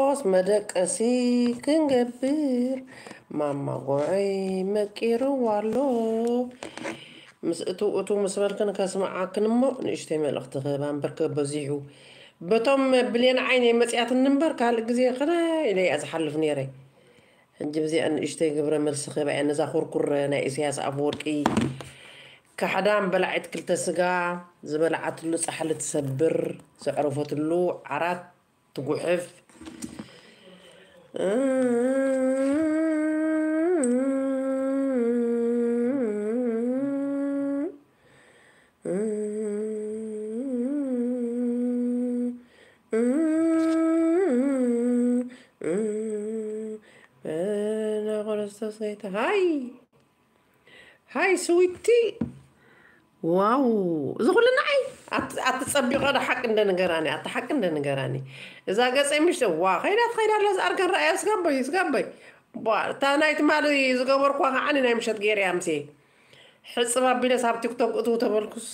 ኦስ መደቀሲ ክንገብር ማማ ጎዐይ መቂርዋ ኣሎ። ምስ እቱ እቱ ምስ በልክን ከስምዓክን እሞ ንእሽተይ መልእኽቲ ክህባ እምበር ከበዚሑ በቶም ብሌን ዓይነይ መጽያትኒ እምበር ካልእ ግዜ ከነ ኢለ እያ ዝሓልፍ ነይረ። ሕጂ ብዚኣ ንእሽተይ ግብረ መልሲ ክህባ እያ ነዛ ኩርኩር ናይ ኢሳያስ ኣፈወርቂ። ካሕዳም በላዒት ክልተ ስጋ ዝበላዓትሉ ጻሕሊ ትሰብር ዘዕረፈትሉ ዓራት ትጉሕፍ። ክርስቶስ ጌታ ሃይ ሃይ ስዊቲ ዋው እዚ ኩሉ ንዓይ ኣትጸቢቐ ዶ ሓቂ እንደ ንገራኒ ኣቲ ሓቂ እንደ ንገራኒ እዛ ገፀ ምሽተ ዋ ከይዳ ትኸይዳ ኣላ ዝኣርገን ረኣያ ስጋበይ ስጋበይ እታ ናይ ትማሊ ዝገበርኳ ከዓኒ ናይ ምሸት ገይረያ ምሴ ሕፅብ ኣቢለስ ኣብ ቲክቶክ እትው ተበልኩስ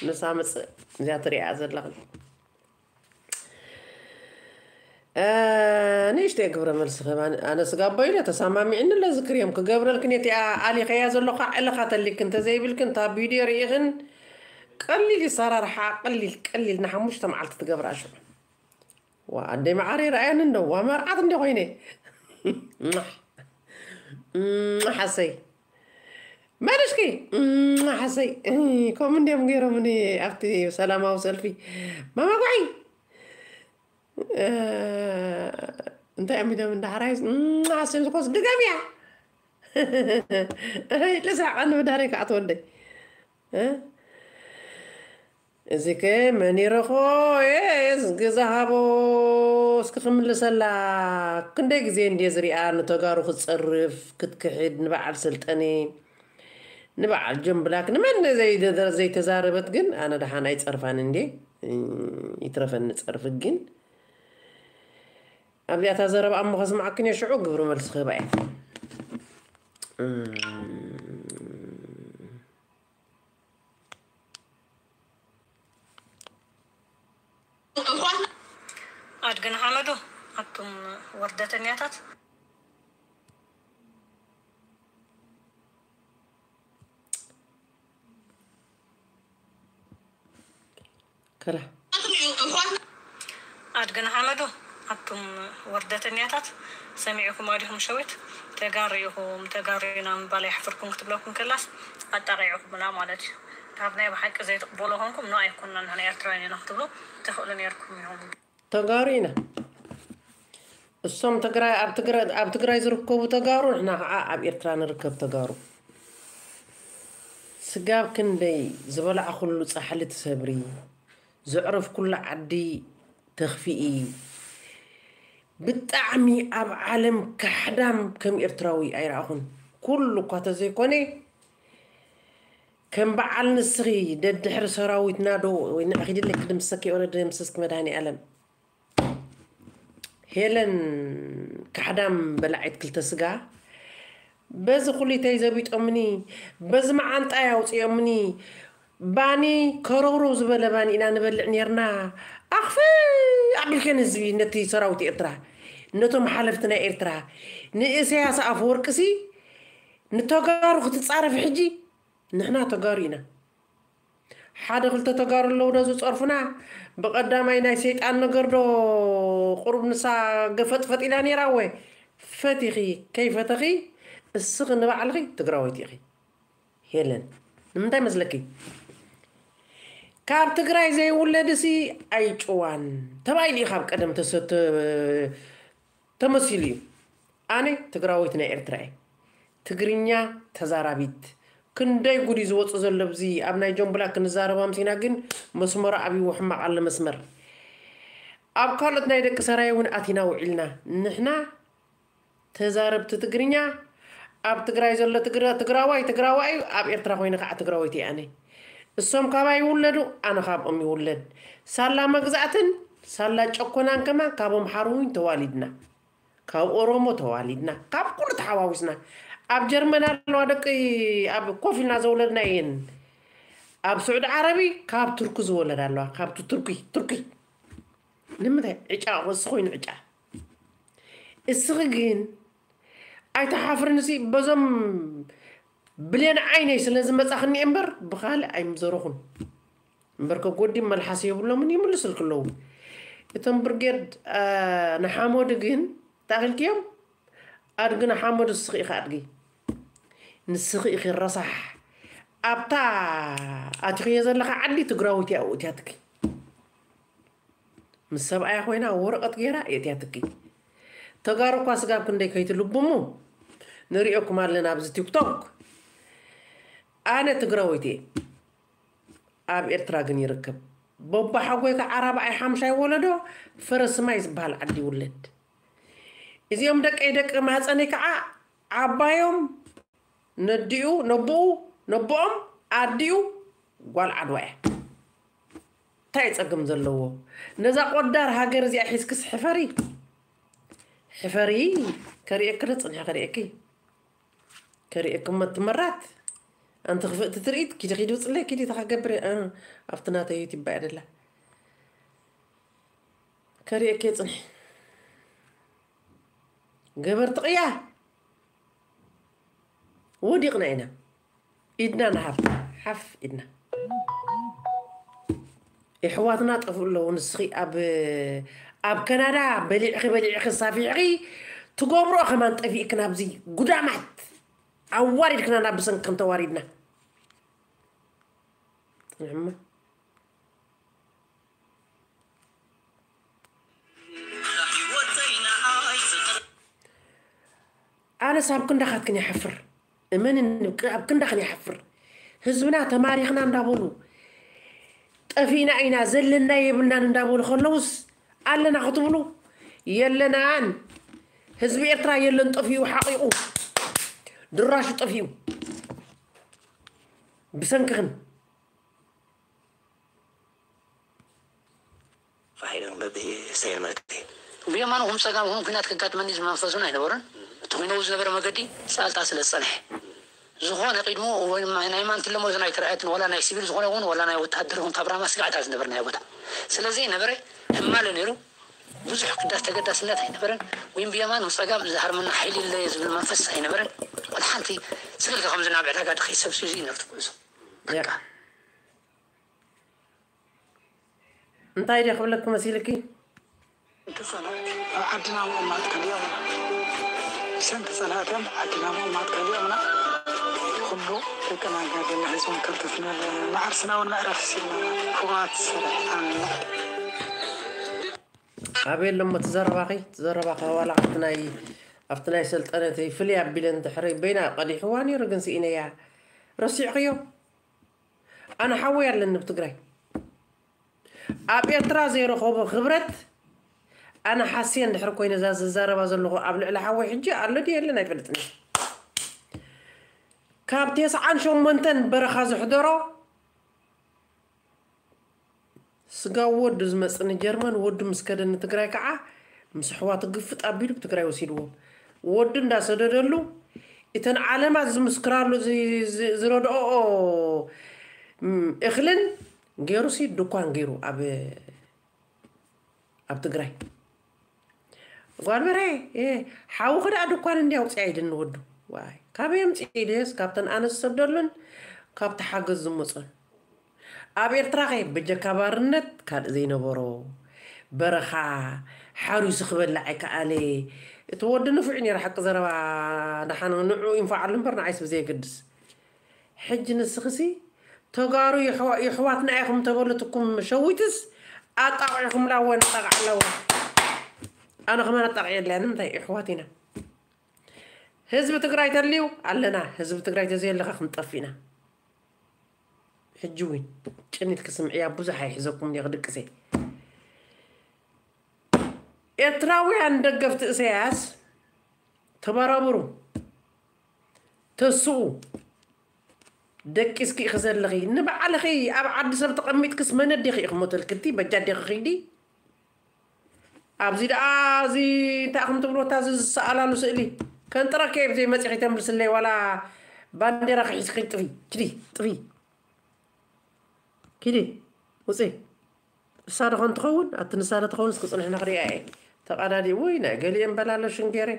ንሳ ምፅእ እዚኣ ትሪኣ ዘለኽን ንእሽተይ ግብረ መልሲ ከማን ኣነ ስጋቦ ኢለ ተሰማሚዕኒ ለዝክር እዮም ክገብረልክን እቲኣ ኣሊኸያ ዘለኹ ዕለኻ ተሊክ እንተዘይብልክን እታ ቪድዮ ርኢኽን ቀሊል ይሰራርሓ ቀሊል ቀሊል ንሓሙሽተ መዓልቲ ትገብራ ሽዑ ዋ ኣደይ መዓረይ ረኣየኒ እንዶ ዋ መርዓት እንዲ ኮይነ ሓሰይ መን እስኪ ሓሰይ ከምኡ እንዲኦም ገይሮምኒ ኣብቲ ሰላማዊ ሰልፊ ማማ ጓዒ እንታይ እዮም ኢሎም እንዳሕራይ ሓሰይ ዝኮስ ድገም እያ ልሳቀኒ ብዳሕረይ ከዓ ትወልደይ እዚከ መን ይረኽቦ? የስ ግዛ ሃቦ እስኪ ክምልሰላ ክንደይ ግዜ እንድየ ዝሪኣ ንተጋሩ ክትፀርፍ ክትክሕድ ንበዓል ሰልጠነ ንበዓል ጆን ብላክ ንመን ዘይተዛረበት ግን ኣነ ደሓን ኣይፀርፋን እንዴ ይትረፈኒ ፀርፊ ግን ኣብዚኣታ ዘረባ እሞ ከስማዓክን እየ ሽዑ ግብሪ መልሲ ክህባ እየ ኣድግን ሓመዱ ኣቱም ወርደተኛታት ከላ ኣድግን ሓመዱ ኣቱም ወርደተኛታት ሰሚዕኩም ኣዲኹም ሸዊት ተጋሩ ኢኹም ተጋሩ ኢና ምባል የሕፍርኩም ክትብለኩም ከላስ ኣጣቂዕኩምና ማለት እዩ ካብ ናይ ብሓቂ ዘይትቕበሎ ኮንኩም ኖ ኣይኮንና ንሕና ኤርትራውያን ኢና ክትብሉ ትኽእሉ ነርኩም ኢኹም ተጋሩ ኢና እሶም ትግራይ ኣብ ትግራይ ዝርከቡ ተጋሩ ንሕና ከዓ ኣብ ኤርትራ ንርከብ ተጋሩ ስጋብ ክንደይ ዝበላዕኩሉ ፃሕሊ ትሰብሪ ዘዕረፍኩሉ ዓዲ ተኽፊኢ ብጣዕሚ ኣብ ዓለም ካሕዳም ከም ኤርትራዊ ኣይረኣኹን ኩሉ እኳ ተዘይኮነ ከም በዓል ንስኺ ደድሕሪ ሰራዊትና ዶ ወይ ንዕኺ ድለ ክድምሰኪ ወረ ድምስስኪ መድሃኒ ኣለም ሄለን ካሕዳም በላዒት ክልተ ስጋ በዚ ኩሊተይ ዘቢጦምኒ በዚ መዓንጣይ ኣውፅኦምኒ ባኒ ከረውረው ዝበለ ባኒ ኢና ንበልዕ ነርና ኣኽፍ ኣቢልከን ህዝቢ ነቲ ሰራዊት ኤርትራ ነቶም ሓለፍቲ ናይ ኤርትራ ንእሰያስ ኣፈወርቅሲ ንተጋሩ ክትፃረፍ ሕጂ ንሕና ተጋሩ ኢና ሓደ ክልተ ተጋሩ ኣለዉ ዶ ዝፀርፉና ብቀዳማይ ናይ ሰይጣን ነገር ዶ ቁሩብ ንሳ ገፈጥፈጥ ኢላ ነይራ ወ ፈቲኺ ከይፈተኺ እስኺ ንባዕልኺ ትግራወይቲ ኢኺ ሄለን ንምንታይ መስለኪ ካብ ትግራይ ዘይውለድሲ ኣይጭዋን ተባይሉ እዩ ካብ ቀደም ተሰተ ተመሲሉ እዩ ኣነ ትግራወይቲ ናይ ኤርትራ እየ ትግርኛ ተዛራቢት ክንደይ ጉድ እዩ ዝወፁ ዘሎ ብዚ ኣብ ናይ ጆምብላ ክንዛረብ ኣምሲና ግን መስመሩ ኣብይዎ ሕማቕ ኣሎ መስመር ኣብ ካልኦት ናይ ደቂ ሰራየ እውን ኣቲና ውዒልና ንሕና ተዛረብቲ ትግርኛ ኣብ ትግራይ ዘሎ ትግራዋይ ትግራዋይ ኣብ ኤርትራ ኮይነ ከዓ ትግራወይቲ እየ ኣነ እሶም ካባይ ይውለዱ ኣነ ካብኦም ይውለድ ሳላ መግዛእትን ሳላ ጨኮናን ከማን ካብ ኣምሓሩ እውን ተዋሊድና ካብ ኦሮሞ ተዋሊድና ካብ ኩሉ ተሓዋዊስና ኣብ ጀርመን ኣለዋ ደቂ ኣብ ኮፍ ኢልና ዘውለድና እየን ኣብ ስዑዲ ዓረቢ ካብ ቱርኪ ዝወለድ ኣለዋ ካብቲ ቱርኪ ቱርኪ ንምንታይ ዕጫ ክወስኽ ኮይኑ ዕጫ እስኺ ግን ኣይትሓፍርን። እዚ በዞም ብሌን ዓይነይ ስለ ዝመጻኽኒ እምበር ብኻልእ ኣይምዘረኹን። እምበር ከጎዲ መልሓስ የብሎምን፣ ይምልስልኪ ኣለዉ። እቶም ብርጌድ፣ አ፣ ንሓመዱ ግን ታኺልክዮም? ኣድጊ ንሓመዱ ንስኺ ኢኺ ኣድጊ። ንስኺ ኢኺ ረሳሕ። ኣብታ ኣቲኽዮ ዘለኻ ዓዲ ትግራወይቲ ኣብኡ እትያትኪ። ምስ ሰብኣያ ኮይና ወረቐት ገይራ የእትያትኪ። ተጋሩ እኳ ስጋብ ክንደይ ከይትልብሙ ንሪኦኩም ኣለና ኣብዚ ቲክቶክ። ኣነ ትግራወይቲ እየ። ኣብ ኤርትራ ግን ይርከብ። ቦባ ሓጎይ ከዓ ራብዓይ ሓምሻይ ወለዶ ፈረስማይ ዝበሃል ዓዲ ይውለድ። እዚኦም ደቀይ ደቂ ማህፀነይ ከዓ ዓባዮም ነዲኡ ነቦኡ ነቦኦም ኣዲኡ ጓል ዓድዋ እያ። እንታይ እዩ ጸገም ዘለዎ? ነዛ ቆዳር ሃገር እዚኣ ሒዝክስ ሕፈሪ። ሕፈሪ። ከርእየኪ ዶ ጽንሐ ከርእየኪ? ከርእየኪ እሞ ትመራት። ኣንቲ ክፍእቲ ትርኢት ኪዲ ኪዲ ውጽለይ ኪዲ ተኸገብሪ። እ፣ ኣብቲ ናተይ ዩቲዩብ እያ ደላ። ከርእየኪ ጽንሐ። ገበርቲ ቅያ ወዲቕና ኢና። ኢድና ንሃብ ሓፍ ኢድና። የሕዋትና ጠፍኡ ኣለዉ። ንስኺ ኣብ ኣብ ከናዳ በሊዕኺ በሊዕኺ ሳፊዕኺ ትገብርኦ ከማን ጠፊእክን ኣብዚ ጉዳማት ኣዋሪድክና ናብ ብሰንክን ተዋሪድና። ጽንሕማ። ኣነስ ኣብ ክንዳኻትክን ይሓፍር። እመን ኣብ ክንዳኽን ይሓፍር። ህዝብና ተማሪኽና እንዳበሉ ጠፊእና ኢና ዘለና የብልናን እንዳበሉ ከለውስ ኣለና ክትብሉ የለናን። ህዝቢ ኤርትራ የለን ጠፊኡ ሓቂቑ ድራሹ ጠፊኡ ብሰንክኽን። ፋሒሎም በብሰየን ማለት እዩ። ብየማንኹም ጸጋምኹም ኲናት ከጋጥመኒ ዝብል መንፈስ እውን ኣይነበሮን። እቲ ኲነኡ ዝነበረ መገዲ ጻልታ ስለ ዝጸንሐ። ዝኾነ ቅድሞ ወይ ናይ ማንትለ ሞት ኣይተረኣየትን፣ ዋላ ናይ ሲቪል ዝኾነ እውን ዋላ ናይ ወተሃደር እውን ካብ ራማ ስጋዕታ ዝነበርናዮ ቦታ ስለዘይነበረ ሕማለ ነይሩ። ብዙሕ ክዳስ ተገዳስነት ኣይነበረን። ወይም ብየማን ብጸጋም ዝሃርመና ሓይሊ ኣለየ ዝብል መንፈስ ኣይነበረን። ወላ ሓንቲ ስለ ከምዚ ናብ ዕዳጋ ድኸይ ሰብ ሱዚ ነርት ጉዕዞ በቃ። እንታይ ድየ ክብለኪ መሲልኪ? ተጸላእቲ ኣብ ዓድና ምቕማጥ ከሊኦምና። ብሰንኪ ጸላእቶም ዓድና ምቕማጥ ከሊኦምና። ኩሉ ደቅና ጋደና ሒዞም ከርተትና መዓርስና እውን መዕረፍ ሲልና ፍቓት ሰሪሕና ንላዕሊ። ኣበይ ኣሎ እሞ እቲ ዘረባኺ? እቲ ዘረባኺ ዋላ ኣብቲ ናይ ኣብቲ ናይ ሰልጠነ እቲ ፍልይ ኣቢለ እንድሕሪ በይና ቀዲሕዋ ነይሩ ግን ስኢነያ። ረሲዕኽዮ? ኣነ ሓወይ ኣለኒ ኣብ ትግራይ። ኣብ ኤርትራ ዘይረኸቦ ክብረት ኣነ ሓስየ እንድሕር ኮይነ እዛ ዝዛረባ ዘለኹ ኣብ ልዕሊ ሓወይ ሕጂ ኣሎ ድዩ የለን ኣይፈልጥን። ካብ ተስዓን ሸሞንተን በረኻ ዘሕደሮ ስጋ ወዱ ዝመጽእ ንጀርመን ወዱ ምስ ከደ ንትግራይ ከዓ ምስ ኣሕዋቱ ግፍጥ ኣቢሉ ብትግራይ ወሲድዎም። ወዱ እንዳሰደደሉ እተን ዓለማት ዝምስክራሉ ዝ- ዝ- ዝረድኦ እም፣ እኽልን ገይሩሲ ድኳን ገይሩ ኣብ ኣብ ትግራይ ጓል በርሀ እ፣ ሓውኺ ደኣ ድኳን እንዲ ኣውፅኣ ኢልኒ ወዱ። ዋይ ካበይ ኣምፅእ ኢለስ ካብተን ኣነ ዝሰደሉን ካብቲ ሓገዝ ዝመፁን ኣብ ኤርትራ ከ በጀካ ባርነት ካልእ ዘይነበሮ በረኻ ሓሪሱ ክበልዕ ኣይከኣለ። እቲ ወዲ ንፉዕ ነይሩ ሓቂ ዘረባ ደሓን ንዑ ይንፈዓሉ እምበር ንዓይስ ብዘየገድስ። ሕጂ ንስኽሲ ተጋሩ የሕዋ- የሕዋትና ኢኹም ተበሉትኩም ሸዊትስ ኣጣቂዕኹምላ እወ ነጣቕዓ ኣለዋ። ኣነ ከማን ኣጣቂዐ ኣለያ ንምንታይ የሕዋት ኢና። ህዝቢ ትግራይ ተልዩ ኣለና ህዝቢ ትግራይ ተዘየለካ ክንጠፍ ኢና። ሕጂ እውን ጭኒት ክስምዕያ ብዙሕ ኣይሕዘኩም እየ ክድቅሰ። ኤርትራውያን ደገፍቲ እሰያስ ተበራብሩ ተስኡ ደቂስኪ ኢኺ ዘለኺ ንባዕልኺ ኣብ ዓዲ ሰብ ተቐሚጥክስ መን ኣዴኺ ኢኺ ሞተልክቲ በጃ ኣዴኺ ኺዲ ኣብዚ ደኣ እዚ እንታይ ኢኹም ትብልዎ እታ እዚ ዝሰኣላሉ ስእሊ ከንጥረኪ እየ ብዘይ መፂኺ ተምልስለይ ዋላ ባንዴራ ክሒዝኪ ኺዲ ጥፊ ኪዲ ጥፊ ኪዲ ውፂ እሳ ዶ ኾን ትኸውን ኣቲ ንሳ ዶ ትኸውን እስኪ ፅንሕና ክሪኣ እየ ተቐዳዲ ውይ ናይ ገሊኦም በላሎ ሽንጌሬ።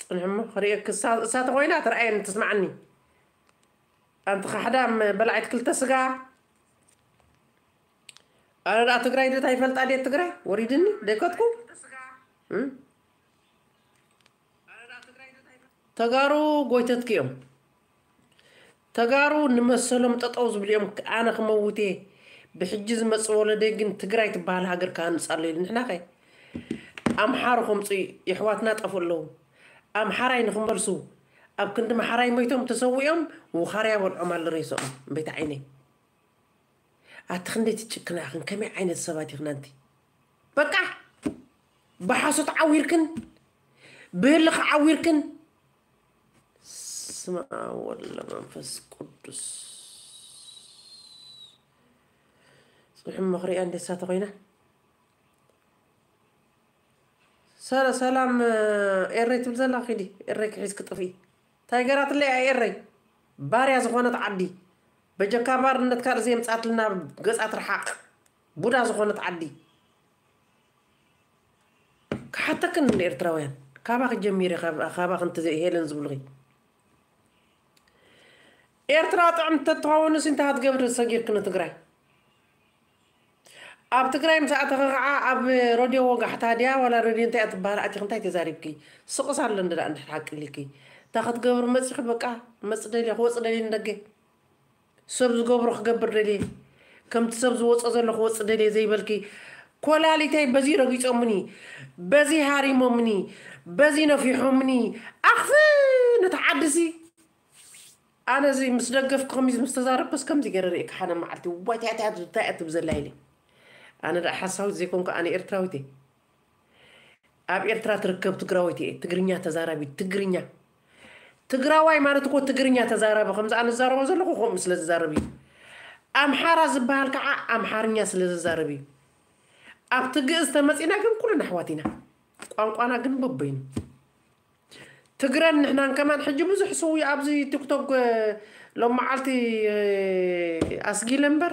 ጽንሕሞ ክርእየክ እሳ ተኾይና ትርኣየኒ ትስማዓኒ። ኣንቲ ኻሕዳም በላዒት ክልተ ስጋ። ኣነ ደኣ ትግራይ ደታ ይፈልጣ ድየ ትግራይ ወሪድኒ ደይከትኩ። ተጋሩ ጎይተትኪ እዮም። ተጋሩ ንመሰሎም ጠጠው ዝብሉ እዮም። ኣነ ክመውት እየ። ብሕጂ ዝመፅእ ወለደይ ግን ትግራይ ትበሃል ሃገር ክሃንፅ ኣሎ ኢሉ። ንሕና ከ ኣምሓሩ ከምፁ የሕዋትና ጠፍኡ ኣለዉ። ኣምሓራይ ንክመልሱ ኣብ ክንዲ ምሓራይ ሞይቶም ተሰዊኦም ውኻርያ በልዖም ኣሎ ሬሶም። እምበይታ ዓይነይ ኣቲ ክንደይ ትጭክና ኢኽን? ከመይ ዓይነት ሰባት ኢኽን ኣንቲ? በቃ ብሓሶት ዓዊርክን ብህልኽ ዓዊርክን ስማ ወለ መንፈስ ቅዱስ ጽሑም መኽሪያ እንዴት ሳተ ኮይና ሰላ- ሰላም ኤረይ ትብል ዘላ ኪዲ ኤረይ ክሒዝ ክጥፍኢ እንታይ ገራትለይ እያ ኤረይ ባርያ ዝኾነት ዓዲ በጀካ ባርነት ካልእ ዘየምጻትልና ገጻ ትርሓቕ ቡዳ ዝኾነት ዓዲ ክሓተክን ንኤርትራውያን ካባኺ ጀሚረ ካባኺ እንተ ሄለን ዝብሉኺ ኤርትራ ጥዕምቲ ተትኸውን ንስ እንታይ ክትገብሪ ሰጊርኪ ንትግራይ ኣብ ትግራይ ምስ ኣተኺ ከዓ ኣብ ረድዮ ወጋሕታ ድያ ዋላ ረድዮ እንታይ እያ ትበሃል ኣቲኺ እንታይ ተዛሪብኪ ስቕስ ኣሎ እንደ እንድሕር ሓቂ ኢልኪ እንታይ ክትገብሪ መፂኺ በቃ መፅ ደልየ ክወፅ ደልየ ንደገ ሰብ ዝገብሮ ክገብር ደልየ ከምቲ ሰብ ዝወፆ ዘሎ ክወፅ ደልየ ዘይበልኪ ኮላሊተይ በዚ ረጊፆምኒ በዚ ሃሪሞምኒ በዚ ነፊሖምኒ ኣኽፍ ነቲ ዓድሲ ኣነ እዚ ምስ ደገፍኩ ከሚዝ ምስ ተዛረብኩስ ከምዚ ገይረ ርእየካ ሓደ መዓልቲ ዋይ እንታይ እያ ትብል ዘላ ኢለ ኣነ ደኣ ሓሳዊት ዘይኮንኩ ኣነ ኤርትራዊት እየ ኣብ ኤርትራ ትርከብ ትግራወይቲ እየ ትግርኛ ተዛራቢት ትግርኛ ትግራዋይ ማለት እኮ ትግርኛ ተዛራቢ ከምዚ ኣነ ዝዛረቦ ዘለኹ ከምኡ ስለ ዝዛረብ እዩ ኣምሓራ ዝበሃል ከዓ ኣምሓርኛ ስለ ዝዛረብ እዩ ኣብቲ ግእዝ ተመፂና ግን ኩልና ኣሕዋት ኢና ቋንቋና ግን በበይኑ ትግረን ንሕናን ከማን ሕጂ ብዙሕ ስው ኣብዚ ቲክቶክ ሎም መዓልቲ ኣስጊለ እምበር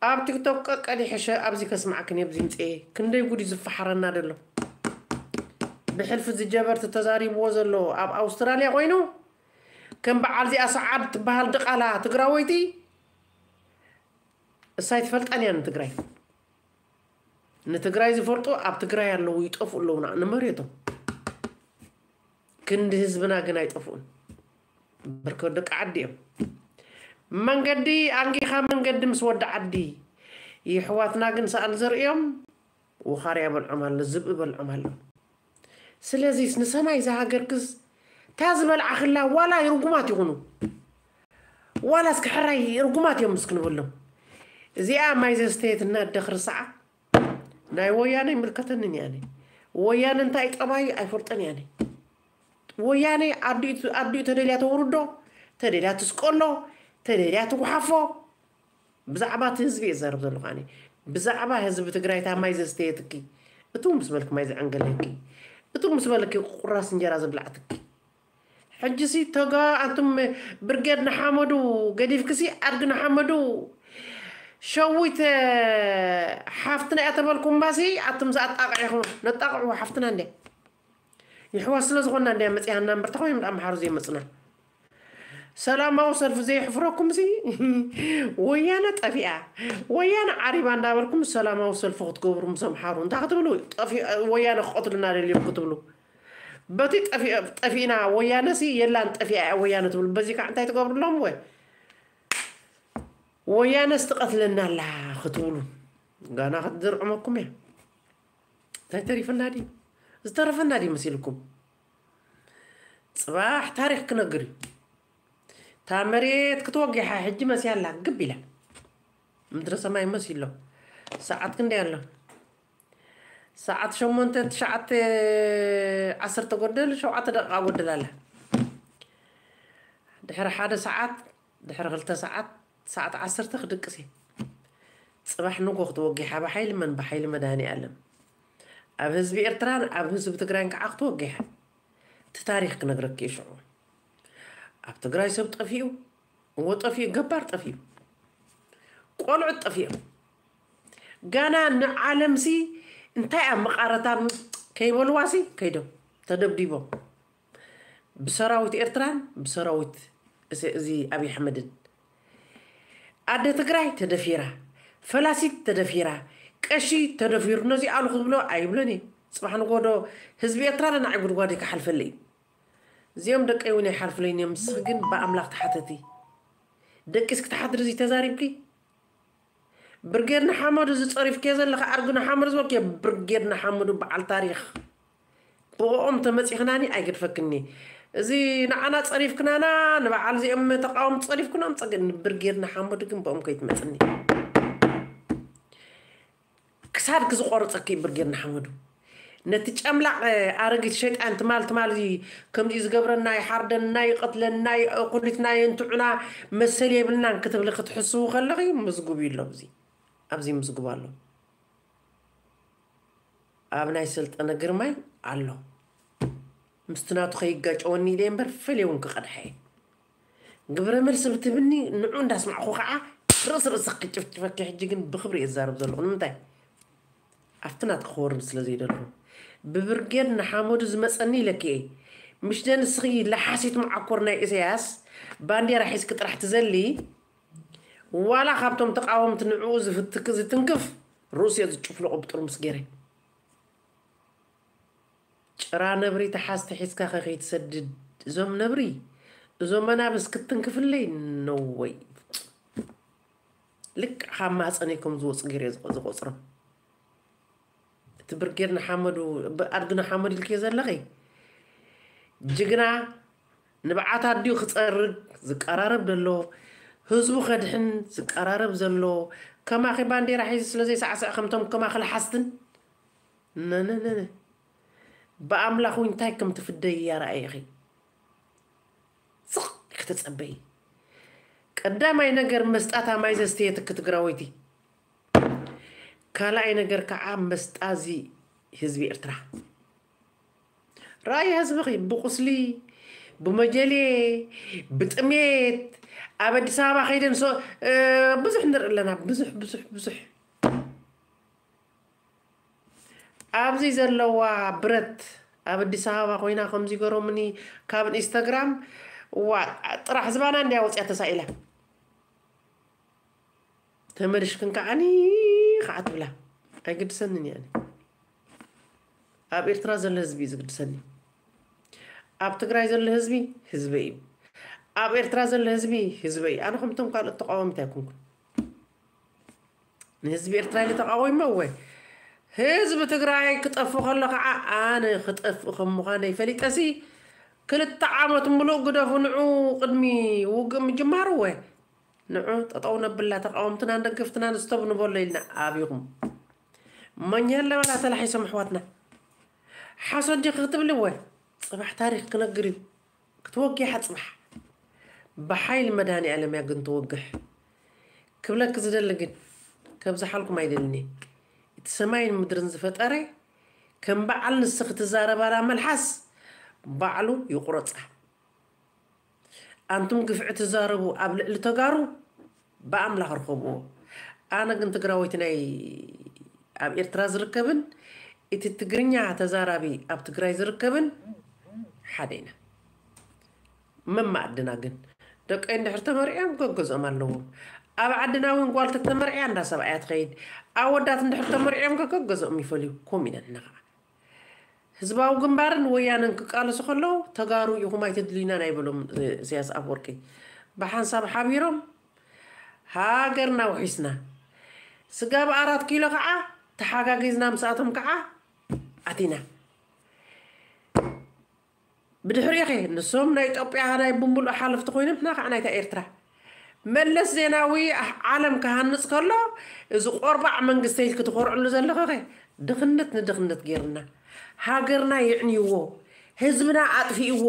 ኣብ ቲክቶክ ቀቀዲ ሕሸ ኣብዚ ከስማዕክን ኣብዚ ምፅኤ ክንደይ ጉድ ዝፈሓረና ደሎ ብሕልፊ ዝጀበርቲ ተዛሪብዎ ዘሎ ኣብ ኣውስትራልያ ኮይኑ ከም በዓል ዚኣ ሰዓድ ትበሃል ድቓላ ትግራወይቲ እሳይ ትፈልጣን እያ ንትግራይ ንትግራይ ዝፈልጡ ኣብ ትግራይ ኣለዉ ይጠፍኡ ኣለዉና ንመሬቶም ክንዲ ህዝብና ግን ኣይጠፍኡን በርከ ደቂ ዓዲ እዮም መንገዲ ኣንጊኻ መንገዲ ምስ ወዲ ዓዲ ይሕዋትና ግን ሰኣል ዘርእዮም ውኻርያ በልዖም ኣሎ ዝብኢ በልዖም ኣሎ ስለዚስ ንሰማይ ዝሃገርክስ እታ ዝበልዓኽላ ዋላ ርጉማት ይኹኑ ዋላ እስኪ ሕራይ ርጉማት እዮም ምስ ክንበሎም እዚኣ ማይ ዘስተየት እናደኽሪ ሰዓ ናይ ወያነ ይምልከተንን እያነ ወያነ እንታይ ጠባይ ኣይፈልጠን እያነ ወያነ ኣዲኡ ተደልያ ተውርዶ ተደልያ ትስቀሎ ተደልያ ትጉሓፎ ብዛዕባ እቲ ህዝቢ እየ ዝዛረብ ዘለኹ ኣነ ብዛዕባ ህዝቢ ትግራይ እታ ማይ ዘስተየትኪ እቱ ምስ በልኪ ማይ ዘዐንገለኪ እቱ ምስ በልኪ ቁራስ እንጀራ ዘብላዕትኪ ሕጂሲ ተጋ ኣንቱም ብርጌድ ንሓመዱ ገዲፍክሲ ኣድጊ ንሓመዱ ሸዊት ሓፍትና እያ ተበልኩምባሲ ኣቱም ዝኣጣቕዒኹም ነጣቕዑ ሓፍትና እንድያ ይሕዋስ ስለ ዝኾንና እንድያ መፂሃና እምበር ተኾይኖም ኣምሓሩ ዘይመፅና ሰላማዊ ሰልፊ ዘየሕፍረኩም ሲ ወያነ ጠፊኣ ወያነ ዓሪባ እንዳበልኩም ሰላማዊ ሰልፊ ክትገብሩ ምስ ኣምሓሩ እንታይ ክትብሉ ወያነ ክቐትሉና ደልዮም ክትብሉ በቲ ጠፊእና ወያነ ሲ የላን ጠፊኣ እያ ወያነ ትብሉ በዚ ከዓ እንታይ ትገብሩ ኣለኹም ወይ ወያነ ስትቐትለና ኣላ ክትብሉ ጋና ክትዝርዕመኩም እያ እንታይ ተሪፈና ድዩ ዝተረፈና ድዩ መሲልኩም ፅባሕ ታሪክ ክነግር እዩ እታ መሬት ክትወጊሓ ሕጂ መስያ ኣላ ግብ ኢላ ምድረ ሰማይ መሲሎ ሰዓት ክንደይ ኣሎ ሰዓት ሸሞንተ ትሽዓተ ዓሰርተ ጎደል ሸውዓተ ደቂቃ ጎደል ኣላ ድሕሪ ሓደ ሰዓት ድሕሪ ክልተ ሰዓት ሰዓት ዓሰርተ ክድቅስ እየ ፅባሕ ንጎ ክትወጊሓ ብሓይሊ መን ብሓይሊ መድሃኒ ኣለም ኣብ ህዝቢ ኤርትራን ኣብ ህዝቢ ትግራይን ከዓ ክትወጊሓ እቲ ታሪክ ክነግረኪ እየ ሽዑ ኣብ ትግራይ ሰብ ጠፊኡ እወ ጠፊኡ ገባር ጠፊኡ ቆልዑት ጠፊኦም ጋና ንዓለምሲ እንታይ ኣብ መቓረታ ከይበልዋሲ ከይዶም ተደብዲቦም ብሰራዊት ኤርትራን ብሰራዊት እዚ ኣብይ ኣሕመድን። ኣደ ትግራይ ተደፊራ፣ ፈላሲት ተደፊራ፣ ቀሺ ተደፊሩ። ነዚ ኣሉ ክብሎ ኣይብሎን እየ። ፅባሕ ንጎዶ ህዝቢ ኤርትራ ንዓይ ጉድጓድ ክሓልፈለ እዩ። እዚኦም ደቀይ እውን ኣይሓልፍለይን እዮም። ንስኺ ግን ብኣምላኽ ተሓተቲ። ደቂስ ክትሓድሪ እዚ ተዛሪብኪ? ብርጌድ ንሓመዱ ዝፀሪፍክዮ ዘለኻ ኣርግ ንሓመዱ ዝበልክዮ ብርጌድ ንሓመዱ በዓል ታሪኽ። ብኦም ተመፂኽናኒ ኣይገድፈክኒ። እዚ ንዓና ፀሪፍክናና ንበዓል እዚኦም ተቃወም ፀሪፍክናም ፀገ ንብርጌድ ንሓመዱ ግን ብኦም ከይትመፅኒ። ክሳድኪ ዝቆርፀኪ ብርጌድ ንሓመዱ። ነቲ ጨምላቕ ኣረጊት ሸይጣን ትማል ትማል ከምዚ ዝገብረና ይሓርደና ይቐትለና ኩሊትና የንትዑና መሰል የብልናን ክትብሊ ክትሕስቡ ከለኺ ምዝጉብ እዩ ኣሎ። ኣብዚ ኣብዚ ምዝጉብ ኣሎ። ኣብ ናይ ሰልጠነ ግርማይ ኣሎ። ምስቲ ናቱ ከይጋጨወኒ ኢለ እምበር ፈልየ እውን ክቐድሐ እየ። ግብረ መልሲ ብትብኒ ንዑ እንዳስማዕኹ ከዓ ርእስ ርእስ ክጭፍጭፈኪ። ሕጂ ግን ብክብሪ እየ ዝዛረብ ዘለኹ። ንምንታይ ኣብቲ ናትኪ ክወርድ ስለ ዘይደለኹ። ብብርጌድ ንሓመዱ ዝመፀኒ ኢለኪ እየ። ምሽ ደንስኺ ለሓሲት መዓኮር ናይ ኢሳያስ ባንዴራ ሒዝኪ ጥራሕ ትዘሊ። ዋላ ካብቶም ተቃወምቲ ንዕኡ ዝፍትክ ዝትንክፍ ርእስዮ ዝጭፍልቑ ብጥርሙስ ገይረ። ጭራ ነብሪ ተሓዝ ተሒዝካ ከ ከይትሰድድ እዞም ነብሪ እዞም መናብስ ክትንክፍለይ ነወይ። ልክዕ ካብ ማህፀነይ ከም ዝወፁ ገይረ ዝቆ- ዝቆፅሮም። እቲ ብርጌድ ንሓመዱ ብኣድጊ ንሓመዱ ኢልክዮ ዘለኺ ጅግና ንብዓት ኣዲኡ ክፀርግ ዝቀራረብ ዘሎ ህዝቡ ከድሕን ዝቀራረብ ዘሎ ከማኺ ባንዴራ ሒዙ ስለ ዘይሳዕስዕ ከምቶም ከማኺ ለሓስትን ነነነነ ብኣምላኽ እንታይ ከም ትፍደይ እያ ረኣይኺ ስቕ ክትጸበይ። ቀዳማይ ነገር መስጣታ ማይ ዘስተየትኪ ትግራወይቲ። ካልኣይ ነገር ከዓ መስጣዚ ህዝቢ ኤርትራ ራእይ ህዝብኺ ብቁስሊ ብመጀሌ ብጥሜት ኣብ ኣዲስ ኣበባ ከይደን ሶ- እ፣ ብዙሕ ንርኢ ኣለና። ብዙሕ ብዙሕ ብዙሕ ኣብዚ ዘለዋ ብረት ኣብ ኣዲስ ኣበባ ኮይና ከምዚ ገሮምኒ ካብ ኢንስታግራም ዋ ጥራሕ ዝባና እንዲያ ወፅያ ተሳኢላ ተመልሽክን ከዓኒ ከዓ ትብላ ኣይግድሰንን እየ ኣነ። ኣብ ኤርትራ ዘሎ ህዝቢ እዩ ዝግድሰኒ። ኣብ ትግራይ ዘሎ ህዝቢ ህዝበይ እዩ። ኣብ ኤርትራ ዘሎ ህዝቢ ህዝበይ እዩ። ኣነ ከምቶም ካልኦት ተቃዋሚት ኣይኮንኩን። ንህዝቢ ኤርትራ ኢለ ተቃዊመ እወ ህዝቢ ትግራይ ክጠፍ ከሎ ከዓ ኣነ ክጠፍ ከም ምዃነይ ፈሊጠሲ ክልተ ዓመት ሙሉእ ግደፉ ንዑ ቅድሚ ውግእ ምጅማሩ እወ ንዑ ጠጠው ነብላ ተቃወምትናን ደገፍትናን ስተብ ንበሎ ኢልና ኣብኹም መኛ ኣለበላ ተላሒሶም ኣሕዋትና ሓሶት ዲኺ ክትብሊ እወ ፅባሕ ታሪክ ክነግር እዩ ክትወጊ ሓፅባሕ ብሓይሊ መድሃኒኣለም እያ ግን ትወግሕ ክብለኪ ዝደሊ ግን ከብዝሓልኩም ኣይደልኒ እቲ ሰማይን ምድርን ዝፈጠረ ከም በዓል ንስኺ ትዛረባላ መልሓስ ባዕሉ ይቁረፃ ኣንቱም ግፍዒ ትዛረቡ ኣብ ልዕሊ ተጋሩ ብኣምላኽ ርኸብዎ ኣነ ግን ትግራወይቲ ናይ ኣብ ኤርትራ ዝርከብን እቲ ትግርኛ ተዛራቢ ኣብ ትግራይ ዝርከብን ሓደ ኢና መማኣድና ግን ደቀይ እንድሕር ተመርዕዮም ገገዝኦም ኣለዎም ኣብ ዓድና እውን ጓል ተተመርዕያ እንዳ ሰብኣያ ትኸይድ ኣወዳት እንድሕር ተመርዕዮም ገገዝኦም ይፈልዩ ኮም ኢና ንና ከዓ ህዝባዊ ግንባርን ወያነን ክቃለሱ ከለዉ ተጋሩ ኢኹም ኣይተድልዩናን ኣይበሎም ኢሳያስ ኣፈወርቂ ብሓንሳብ ሓቢሮም ሃገርና ውሒስና ስጋብ ኣራት ኪሎ ከዓ ተሓጋጊዝና ምስኣቶም ከዓ ኣቲና ብድሕሪኡ ኸ ንሶም ናይ ኢትዮጵያ ናይ ብምሉእ ሓለፍቲ ኮይኖም ንሕና ከዓ ናይታ ኤርትራ መለስ ዜናዊ ዓለም ክሃንፅ ከሎ እዚ ቆርባዕ መንግስተ ኢልኪ ትኮርዕሉ ዘለኺ ኸ ድኽነት ንድኽነት ገይርና ሃገርና የዕንይዎ ህዝብና ኣጥፊእዎ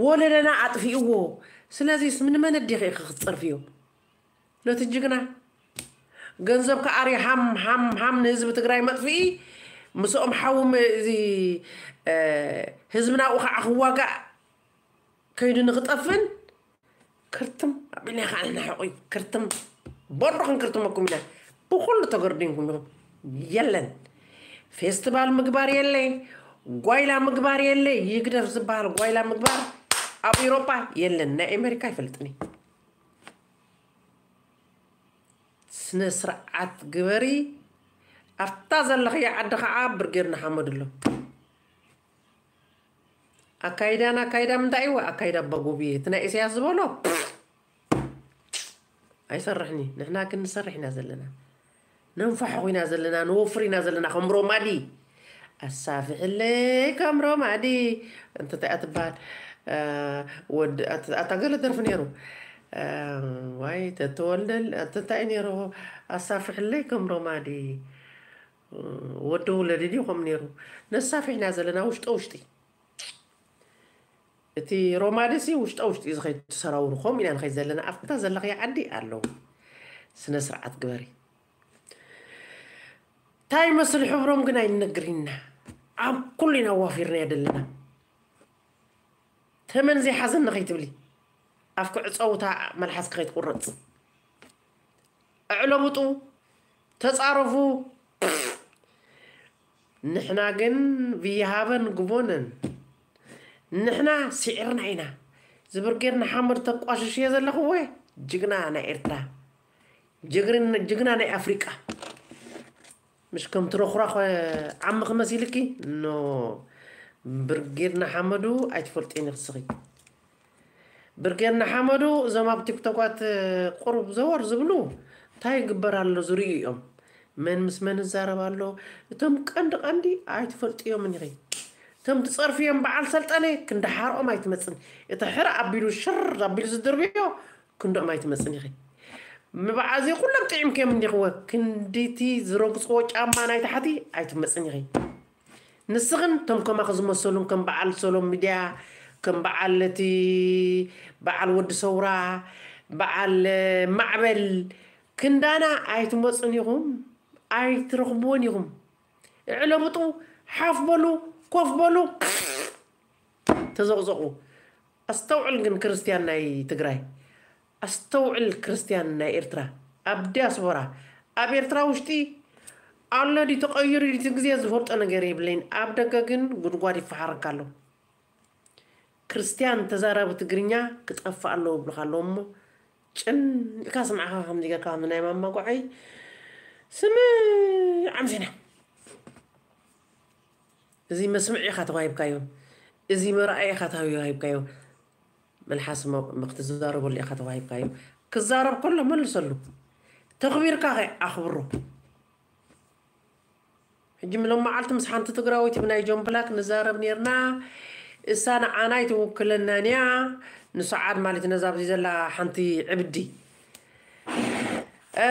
ወለደና ኣጥፊእዎ ስለዚስ ንመን ኣዲኺ ኢኺ ክትፀርፍዮ ነቲ ጅግና ገንዘብ ከኣሪ ሃም ሃም ሃም ንህዝቢ ትግራይ መጥፍኢ ምስኦም ሓዊ እዚ ህዝብና ኣብኡ ከዓ ክዋጋእ ከይዱ ንክጠፍእን ክርትም ኣቢልና ከዓ ንናሕቑ እዩ ክርትም በሩ ክንክርትመኩም ኢና ብኩሉ ተገርዲንኩም ኢኹም የለን ፌስቲቫል ምግባር የለ፣ ጓይላ ምግባር የለ። ይግደፍ ዝበሃል ጓይላ ምግባር ኣብ ኤውሮጳ የለን። ናይ ኣሜሪካ ይፈልጥኒ። ስነ ስርዓት ግበሪ። ኣብታ ዘለኽያ ዓዲ ከዓ ብርጌድ ንሓመዱ ኣሎ። ኣካይዳን ኣካይዳ ምንታይ እዩ? ኣካይዳ ኣባጎብየ። እቲ ናይ ኢሳያስ ዝበሎ ኣይሰርሕኒ። ንሕና ግን ንሰርሕ ኢና ዘለና። ነንፋሕ ኢና ዘለና፣ ንወፍር ኢና ዘለና ከም ሮማዲ። ኣሳፍሕለይ ከም ሮማዲ። እንተ እንታይ እያ ትበሃል? እ፣ ወድ-፣ ኣት-፣ ኣታ ገለ ደርፊ ነይሩ። እ፣ ዋይ ተተወልደል፣ ኣንተ እንታይ ነይሩ? ኣሳፍሕለይ ከም ሮማዲ። እ፣ ወዲ ውለዲ ድዩ ከምኡ ነይሩ? ነሳፍሕ ኢና ዘለና ውሽጠ ውሽጢ። እቲ ሮማዲ ሲ ውሽጠ ውሽጢ እዩ ዝኸይድ፣ እቲ ሰራውሩ። ከምኡ ኢና ንኸይድ ዘለና። ኣብታ ዘለኽያ ዓዲ ኣለዉ። ስነ ስርዓት ግበሪ። እንታይ ይመስል ሕብሮም ግን ኣይንነግርና። ኣብ ኩሉ ኢና ዋፊርና ዘለና። ተመን ዘይሓዘኒ ከይትብሊ። ኣፍኪ ዕፀውታ መልሓስኪ ከይትቁረፅ። ኣዕለብጡ፣ ተፃረፉ። ንሕና ግን ብይሃበን ግቦነን ንሕና ስዒርና ኢና። እዚ ብርጌድ ንሓመዱ ተቋሽሽዮ ዘለኽዎ ጅግና ናይ ኤርትራ፣ ጅግርን-፣ ጅግና ናይ ኣፍሪቃ። ምሽ ከም ትረኹራኽ ዓሚ ክመሲልኪ ኖ። ብርጌድ ንሓመዱ ኣይትፈልጥዮን ኢኺ ንስኺ። ብርጌድ ንሓመዱ እዞም ኣብ ቲክቶካት ቁሩብ ዘወር ዝብሉ እንታይ ይግበር ኣሎ ዝርእዩ እዮም። መን ምስ መን ይዛረብ ኣሎ? እቶም ቀንዲ ቀንዲ ኣይትፈልጥዮምን ኢኺ። እቶም ትጸርፍዮም በዓል ሰልጠነ ክንድሓርኦም ኣይትመጽን። እቲ ሕረ ኣቢሉ ሽር ኣቢሉ ዝድርብዮ ክንድኦም ኣይትመጽን ኢኺ። ምብዓዚ ኩሎም ጥዒምክዮም እንዲኽወ ክንዲቲ ዝረግጽዎ ጫማ ናይ ታሕቲ ኣይትመጽን ኢኺ። ንስኽን እቶም ከማኺ ዝመሰሉን ከም በዓል ሰሎም ሚድያ፣ ከም በዓል እቲ በዓል ወዲ ሰውራ፣ በዓል ማዕበል ክንዳና ኣይትመጹን ኢኹም፣ ኣይትረኽብዎን ኢኹም። እዕለብጡ፣ ሓፍ በሉ፣ ኮፍ በሉ፣ ተዘቕዘቑ። ኣስተውዕል ግን ክርስትያን ናይ ትግራይ፣ ኣስተውዕል ክርስትያን ናይ ኤርትራ፣ ኣብ ዲያስፖራ፣ ኣብ ኤርትራ ውሽጢ ኣሎ ድዩ ተቐይሩ ድዩ እቲ ግዜ ዝፈልጦ ነገር የብለይን። ኣብ ደገ ግን ጉድጓድ ይፈሓረካ ኣሎ። ክርስትያን ተዛራቢ ትግርኛ ክጠፍእ ኣለዎ ይብሉኻ ኣለዉ እሞ ጭንኢልካ ስምዕኻ ከምዚ ጌርካ ከም ናይ ማማ ጓዓይ ስምዕ ኣምሲና። እዚ መስምዕ ኢኻ ተዋሂብካዮ፣ እዚ መርኣይ ኢኻ ተዋሂብካዮ፣ መልሓስ ሞ-፣ ክትዛረበሉ ኢኻ ተዋሂብካዮ። ክዛረብ ከሎ መልሰሉ፣ ተኽቢርካ ኸ ኣኽብሮ። ሕጂ ሎም መዓልቲ ምስ ሓንቲ ትግራወይቲ ብናይ ጆን ብላክ ንዛረብ ኔርና። እሳ ንዓና ኣይትውክለናን እያ። ንሰዓድ ማለት ነዛ ኣብዚ ዘላ ሓንቲ ዕብዲ። እ፣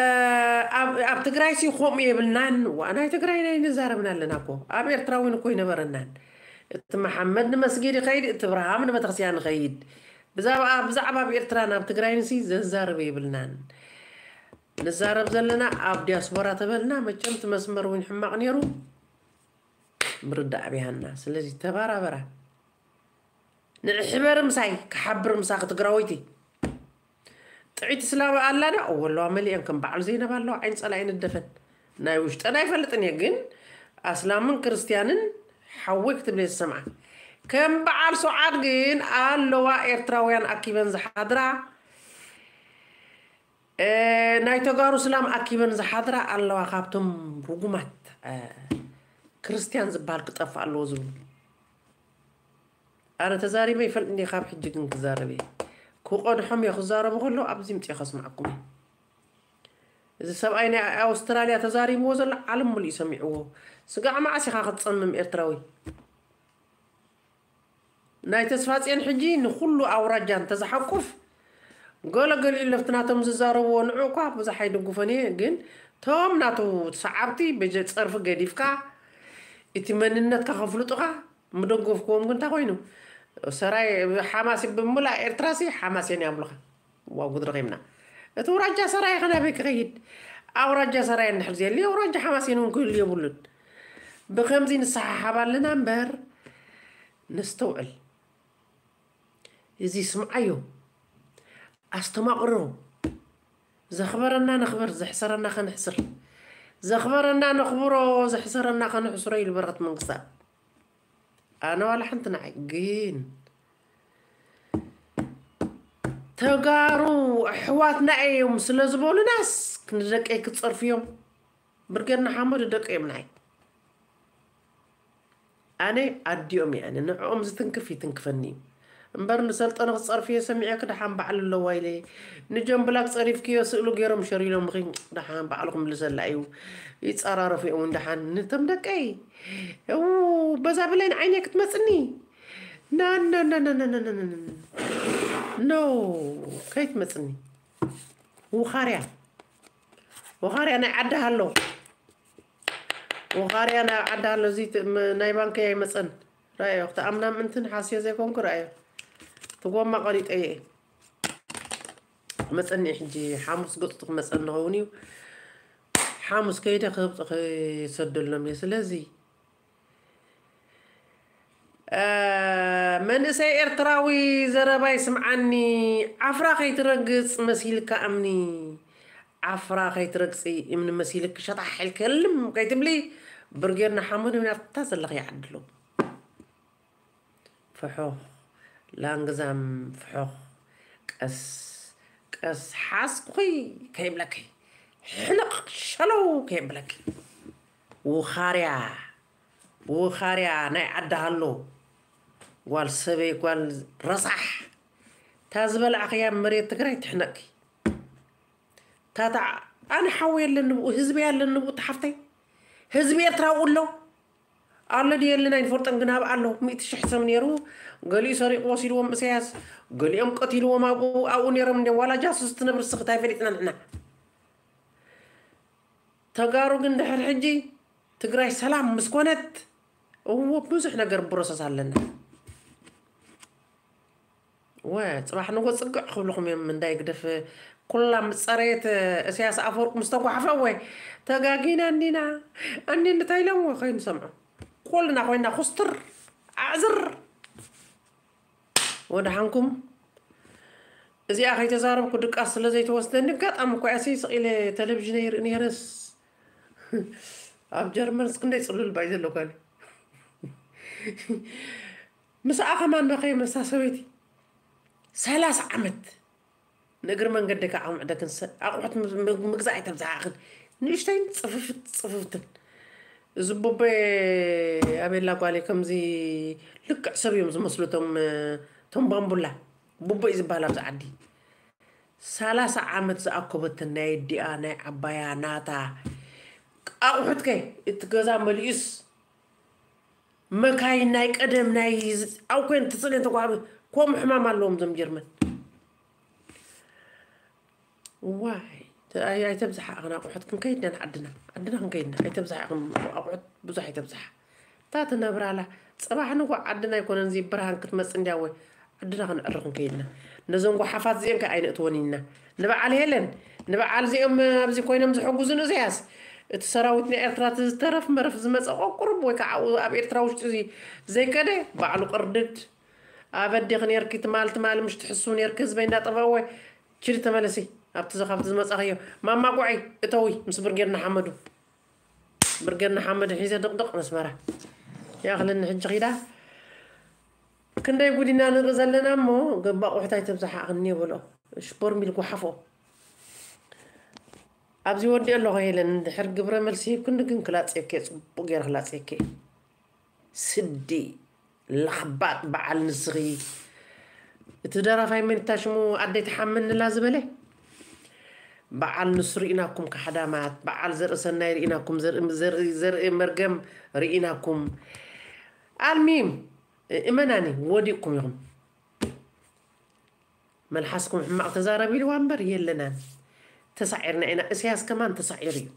ኣብ፣ ኣብ ትግራይ ሲ ከምኡ የብልናን። ዋ፣ ናይ ትግራይ ናይ ንዛረብና ኣለና እኮ። ኣብ ኤርትራ እውን እኮ ይነበረናን። እቲ መሓመድ ንመስጊድ ይኸይድ፣ እቲ እብርሃም ንቤተክርስትያን ይኸይድ። ብዛዕባ፣ ብዛዕባ ኣብ ኤርትራ ናብ ትግራይ ንሲ ዘዛርብ የብልናን። ንዛረብ ዘለና ኣብ ዲያስፖራ ተበልና መቸም እቲ መስመር እውን ሕማቕ ነይሩ። ምርዳእ ኣብያና። ስለዚ ተባራበራ። ንዕሕበሪ ምሳይ፣ ክሓብር ምሳኺ ትግራወይቲ። ጥዒቲ ስላበ ኣላ ዶ? እወ ኣለዋ፣ መሊአን ከም በዓል ዘይነብ ኣለዋ። ዓይኒ ጸላኢ ንደፈን። ናይ ውሽጠን ኣይፈልጥን እየ፣ ግን ኣስላምን ክርስትያንን ሓወይ ክትብል እየ ዝሰምዓ። ከም በዓል ሱዓድ ግን ኣለዋ ኤርትራውያን ኣኪበን ዝሓድራ። እ፣ ናይ ተጋሩ ስላም ኣኪበን ዝሓድራ ኣለዋ፣ ካብቶም ርጉማት፣ እ፣ ክርስትያን ዝበሃል ክጠፍእ ኣለዎ ዝብሉ። ኣነ ተዛሪበ ይፈልጥ እንዲየ፣ ካብ ሕጂ ግን ክዛረብ እየ። ክቐድሖም እየ፣ ክዛረቡ ከለዉ ኣብዚ ምፅየ ከስምዓኩም እየ። እዚ ሰብኣይ ናይ ኣውስትራልያ ተዛሪብዎ ዘሎ ዓለም ሙሉእ እዩ ሰሚዕዎ። ስጋዕ መዓስ ኢኻ ክትፀምም ኤርትራዊ? ናይ ተስፋጽዮን ሕጂ ንኹሉ ኣውራጃ እንተዝሓቁፍ፣ ገለ ገሊኡ ለፍቲ ናቶም ዝዛረብዎ ንዑ እኳ ብዙሕ ኣይድግፎን እየ፣ ግን ቶም ናቱ ሰዓብቲ በጀ ጸርፊ ገዲፍካ፣ እቲ መንነትካ ከፍልጡኻ ምደገፍክዎም ግን እንታይ ኮይኑ? ሰራይ ሓማስ ብምሉእ ኤርትራሲ ሓማስ እየን ይብሉኻ። ዋው ጉድ ረኺብና። እቲ ኣውራጃ ሰራይ ከ ናበይ ክኸይድ? ኣውራጃ ሰራይ እንድሕር ዘየልዩ ኣውራጃ ሓማስ እውን ክህሉ የብሉን። ብኸምዚ ንሰሓሓብ ኣለና እምበር ነስተውዕል። እዚ ስምዓዮ፣ ኣስተማቕሮ፣ ዘኽበረና ነኽብር፣ ዘሕሰረና ከነሕስር፣ ዘኽበረና ነኽብሮ፣ ዘሕሰረና ከነሕስሮ ኢሉ በረኸት መንግስታ። ኣነ ዋላ ሓንቲ ንዓይ ግን ተጋሩ ኣሕዋትና እዮም ስለ ዝበሉናስ ክንደቀይ ክጸርፍዮም ብርጌድ ንሓመዱ ደቀ እዮም ናይ ኣነ ኣዲኦም እየ ኣነ ንዕኦም ዝትንክፍ ይትንክፈኒ እዩ እምበር ንሰልጠነ ክጸርፍዮ ሰሚዐ ክድሓን ባዕሉ ኣለዋ ኢለ ንጀምብላክ ጸሪፍክዮ ስእሉ ገይሮም ሸሪሎምኺ ደሓን ባዕሉ ክምልሰላ እዩ ይጸራረፉ እዮም ደሓን ንቶም ደቀይ እው በዛ ብለን ዓይነ ክትመጽኒ ና ና ና ና ና ና ና ና ኖ ከይትመጽኒ ውኻርያ ውኻርያ ናይ ዓዲ ሃሎ ውኻርያ ናይ ዓዲ ሃሎ እዚ ናይ ባንከይ ኣይመጸን ራዮ ክትኣምና ምእንትን ሓስዮ ዘይኮንኩ ራዮ ትጎማ ቀሪጠየ መጸኒ ሕጂ ሓሙስ ገጽቱ ክመጸኒ ኸውን እዩ ሓሙስ ከይደ ክህብጡ ክሰደሎም እየ ስለዚ መንእሰይ ኤርትራዊ ዘረባይ ስምዓኒ ዓፍራ ከይትረግጽ መሲልካ እምኒ ዓፍራ ከይትረግጺ እምኒ መሲልክ ሸጣሕ ኢልክልም ከይትብሊ ብርጌድ ንሓመዱ ናብታ ዘለኺ ይዓድሎ ፍሑኽ ላንግዛም ፍሑኽ ቀስ ቀስ ሓስኩኺ ከይብለኪ ሕንቕ ሸለው ከየብለኪ ውኻርያ ውኻርያ ናይ ዓዲ ሃሎ ጓል ሰበይ ጓል ረሳሕ እታ ዝበላዕኽያ መሬት ትግራይ ትሕነቅኪ ታታ ኣነ ሓወይ ኣለኒ ብኡ ህዝበይ ኣለኒ ብኡ ተሓፍተይ ህዝቢ ኤርትራ ብኡ ኣሎ ኣሎ ድዩ የለን ኣይንፈልጦን ግን ኣብ ኣሎ ሚእቲ ሽሕ ሰብ ነይሩ ገሊኡ ሰሪቑ ወሲድዎም እሰያስ ገሊኦም ቀቲልዎም ኣብኡ ኣብኡ ነይሮም እንዲዮም ዋላ ጃሱስ ትነብር ስኽት ኣይፈሊጥና ንሕና ተጋሩ ግን ድሕር ሕጂ ትግራይ ሰላም ምስ ኮነት እዎ ብዙሕ ነገር ብሮሰስ ኣለና ወ ፅባሕ ንጎ ፅግዕ ክብልኹም እዮም እንዳይ ግደፍ ኩላ ምፀረየት እስያስ ኣፈወርቅ ምስ ተጓሓፈ ወይ ተጋጊና እንዲና እንዲ እንታይ ኢሎም ከይንሰምዖ ኩልና ኮይና ኩስትር ኣዕዝር ወድሓንኩም እዚኣ ከይተዛረብኩ ድቃስ ስለ ዘይተወስደኒ ኣጋጣሚ እኮ እያ ስቕ ኢለ ቴሌቪዥን ይርኢ ነይረስ ኣብ ጀርመንስ ክንደይ ፅሉል ባይ ዘለኳኒ ምስኣ ከማን መኸየ መሳ ሰበይቲ ሰላሳ ዓመት ንእግሪ መንገዲ ከዓ ምዕደክን ኣቑሑት ምግዛእ ኣይተብዝሓኽን ንእሽተይን ፅፍፍት ፅፍፍትን እዚ ቡበ ኣቤላ ጓሌ ከምዚ ልክዕ ሰብ እዮም ዝመስሉ ቶም ቶም ባምቡላ ቡበ እዩ ዝበሃል ኣብዚ ዓዲ ሰላሳ ዓመት ዝኣኮበትን ናይ ኣዲኣ ናይ ዓባያ ናታ ኣቑሑት ከ እቲ ገዛ መሊኡስ መካይን ናይ ቀደም ናይ ኣብ ኮይን ትፅልን ተጓቢ ከምኡ ሕማም ኣለዎም ዞም ጀርመን ዋይ ኣይተብዝሓ ኣቕን ኣቑሑት ክንከይድና ዓድና ዓድና ክንከይድና ኣይተብዝሓ ኣቕን ኣቑሑት ብዙሕ ኣይተብዝሓ እታ ትነብራላ ፅባሕ ንጎ ዓድና ኣይኮነን እዚ ብርሃን ክትመፅ እንዲያ ወይ ዓድና ክንዕርኽ እንከይድና ነዞም ጓሓፋት እዚኦም ከ ኣይነእትወን ኢና ንበዓል ሄለን ንበዓል እዚኦም ኣብዚ ኮይኖም ዝሕጉዙ ንእሰያስ እቲ ሰራዊት ናይ ኤርትራ እቲ ዝተረፍ መረፍ ዝመፀ ቆቁርብ ወይ ከዓ ኣብ ኤርትራ ውሽጢ እዚ ዘይከደ ባዕሉ ቅርድድ ኣበዴኺ ኔርኪ ትማል ትማል ምሽ ትሕስው ኔርኪ ህዝበይ እንዳጠፍአ ወይ ችዲ ተመለሲ ኣብቲ ዘኻብቲ ዝመጻኽዮ ማማ ጓዒ እተዊ ምስ ብርጌድ ንሓመዱ ብርጌድ ንሓመዱ ሒዘ ድቕድቕ ነስመራ ያኽልኒ ሕጂ ኺዳ ክንደይ ጉዲና ንርኢ ዘለና እሞ ገባቑሕታይ ተብዝሓቕኒ የበሎ ሽቦርሚል ጓሓፎ ኣብዚ ወዲ ኣለኹ ሄለን እንድሕር ግብረ መልሲ ሂብክኒ ግን ክላፅየኪ እየ ፅቡቅ ገይረ ክላፅየኪ እየ ስዲ ለኽባጥ በዓል ንስኺ እቲ ደራፋይ መን እታ ሽሙ ኣደይ ትሓመንላ ዝበለ በዓል ንሱ ርኢናኩም ካሕዳማት በዓል ዘርኢ ሰናይ ርኢናኩም ዘርኢ መርገም ርኢናኩም ኣልሚም እመናኒ ወዲቕኩም ኢኹም መልሓስኩም ሕማቕ ተዛረብ ኢልዋ እምበር የለናን ተሳዒርና ኢና እስያስ ከማን ተሳዒሩ እዩ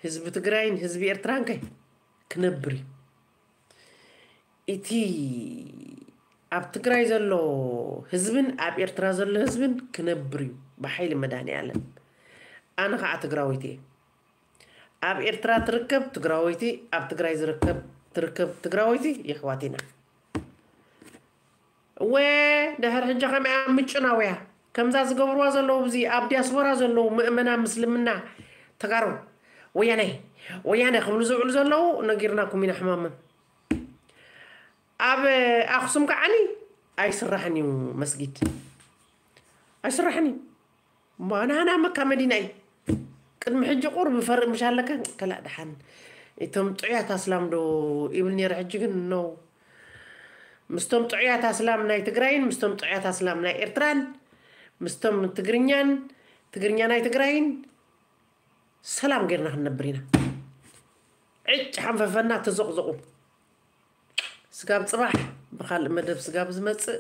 ህዝቢ ትግራይን ህዝቢ ኤርትራን ከ ክነብር እዩ እቲ ኣብ ትግራይ ዘሎ ህዝብን ኣብ ኤርትራ ዘሎ ህዝብን ክነብር እዩ ብሓይሊ መድሃኒኣለም ኣነ ከዓ ትግራዊት እየ ኣብ ኤርትራ ትርከብ ትግራወይቲ ኣብ ትግራይ ዝርከብ ትርከብ ትግራወይቲ የሕዋት ኢና እወ ድሕር ሕጂ ከመያ ምጭናውያ ከምዛ ዝገብርዋ ዘለዉ፣ እዚ ኣብ ዲያስፖራ ዘለዉ ምእመና ምስልምና ተጋሩ፣ ወያነ ወያነ ክብሉ ዝውዕሉ ዘለዉ፣ ነጊርናኩም ኢና ሕማሞም። ኣብ ኣኽሱም ከዓኒ ኣይስራሕን እዩ መስጊድ፣ ኣይስራሕን እዩ። እሞ ናህና መካ መዲና እዩ። ቅድሚ ሕጂ ቁርብ ፈርእ ምሽ ኣለካ፣ ከላእ ደሓን። እቶም ጥዑያት ኣስላም ዶ ይብል ነይረ፣ ሕጂ ግን ነው። ምስቶም ጥዑያት ኣስላም ናይ ትግራይን ምስቶም ጥዑያት ኣስላም ናይ ኤርትራን፣ ምስቶም ትግርኛን ትግርኛ ናይ ትግራይን ሰላም ጌርና ክንነብር ኢና። ዕጭ ሓንፈፈና ተዘቕዘቑ። ስጋብ ጽባሕ ብኻልእ መደብ ስጋብ ዝመጽእ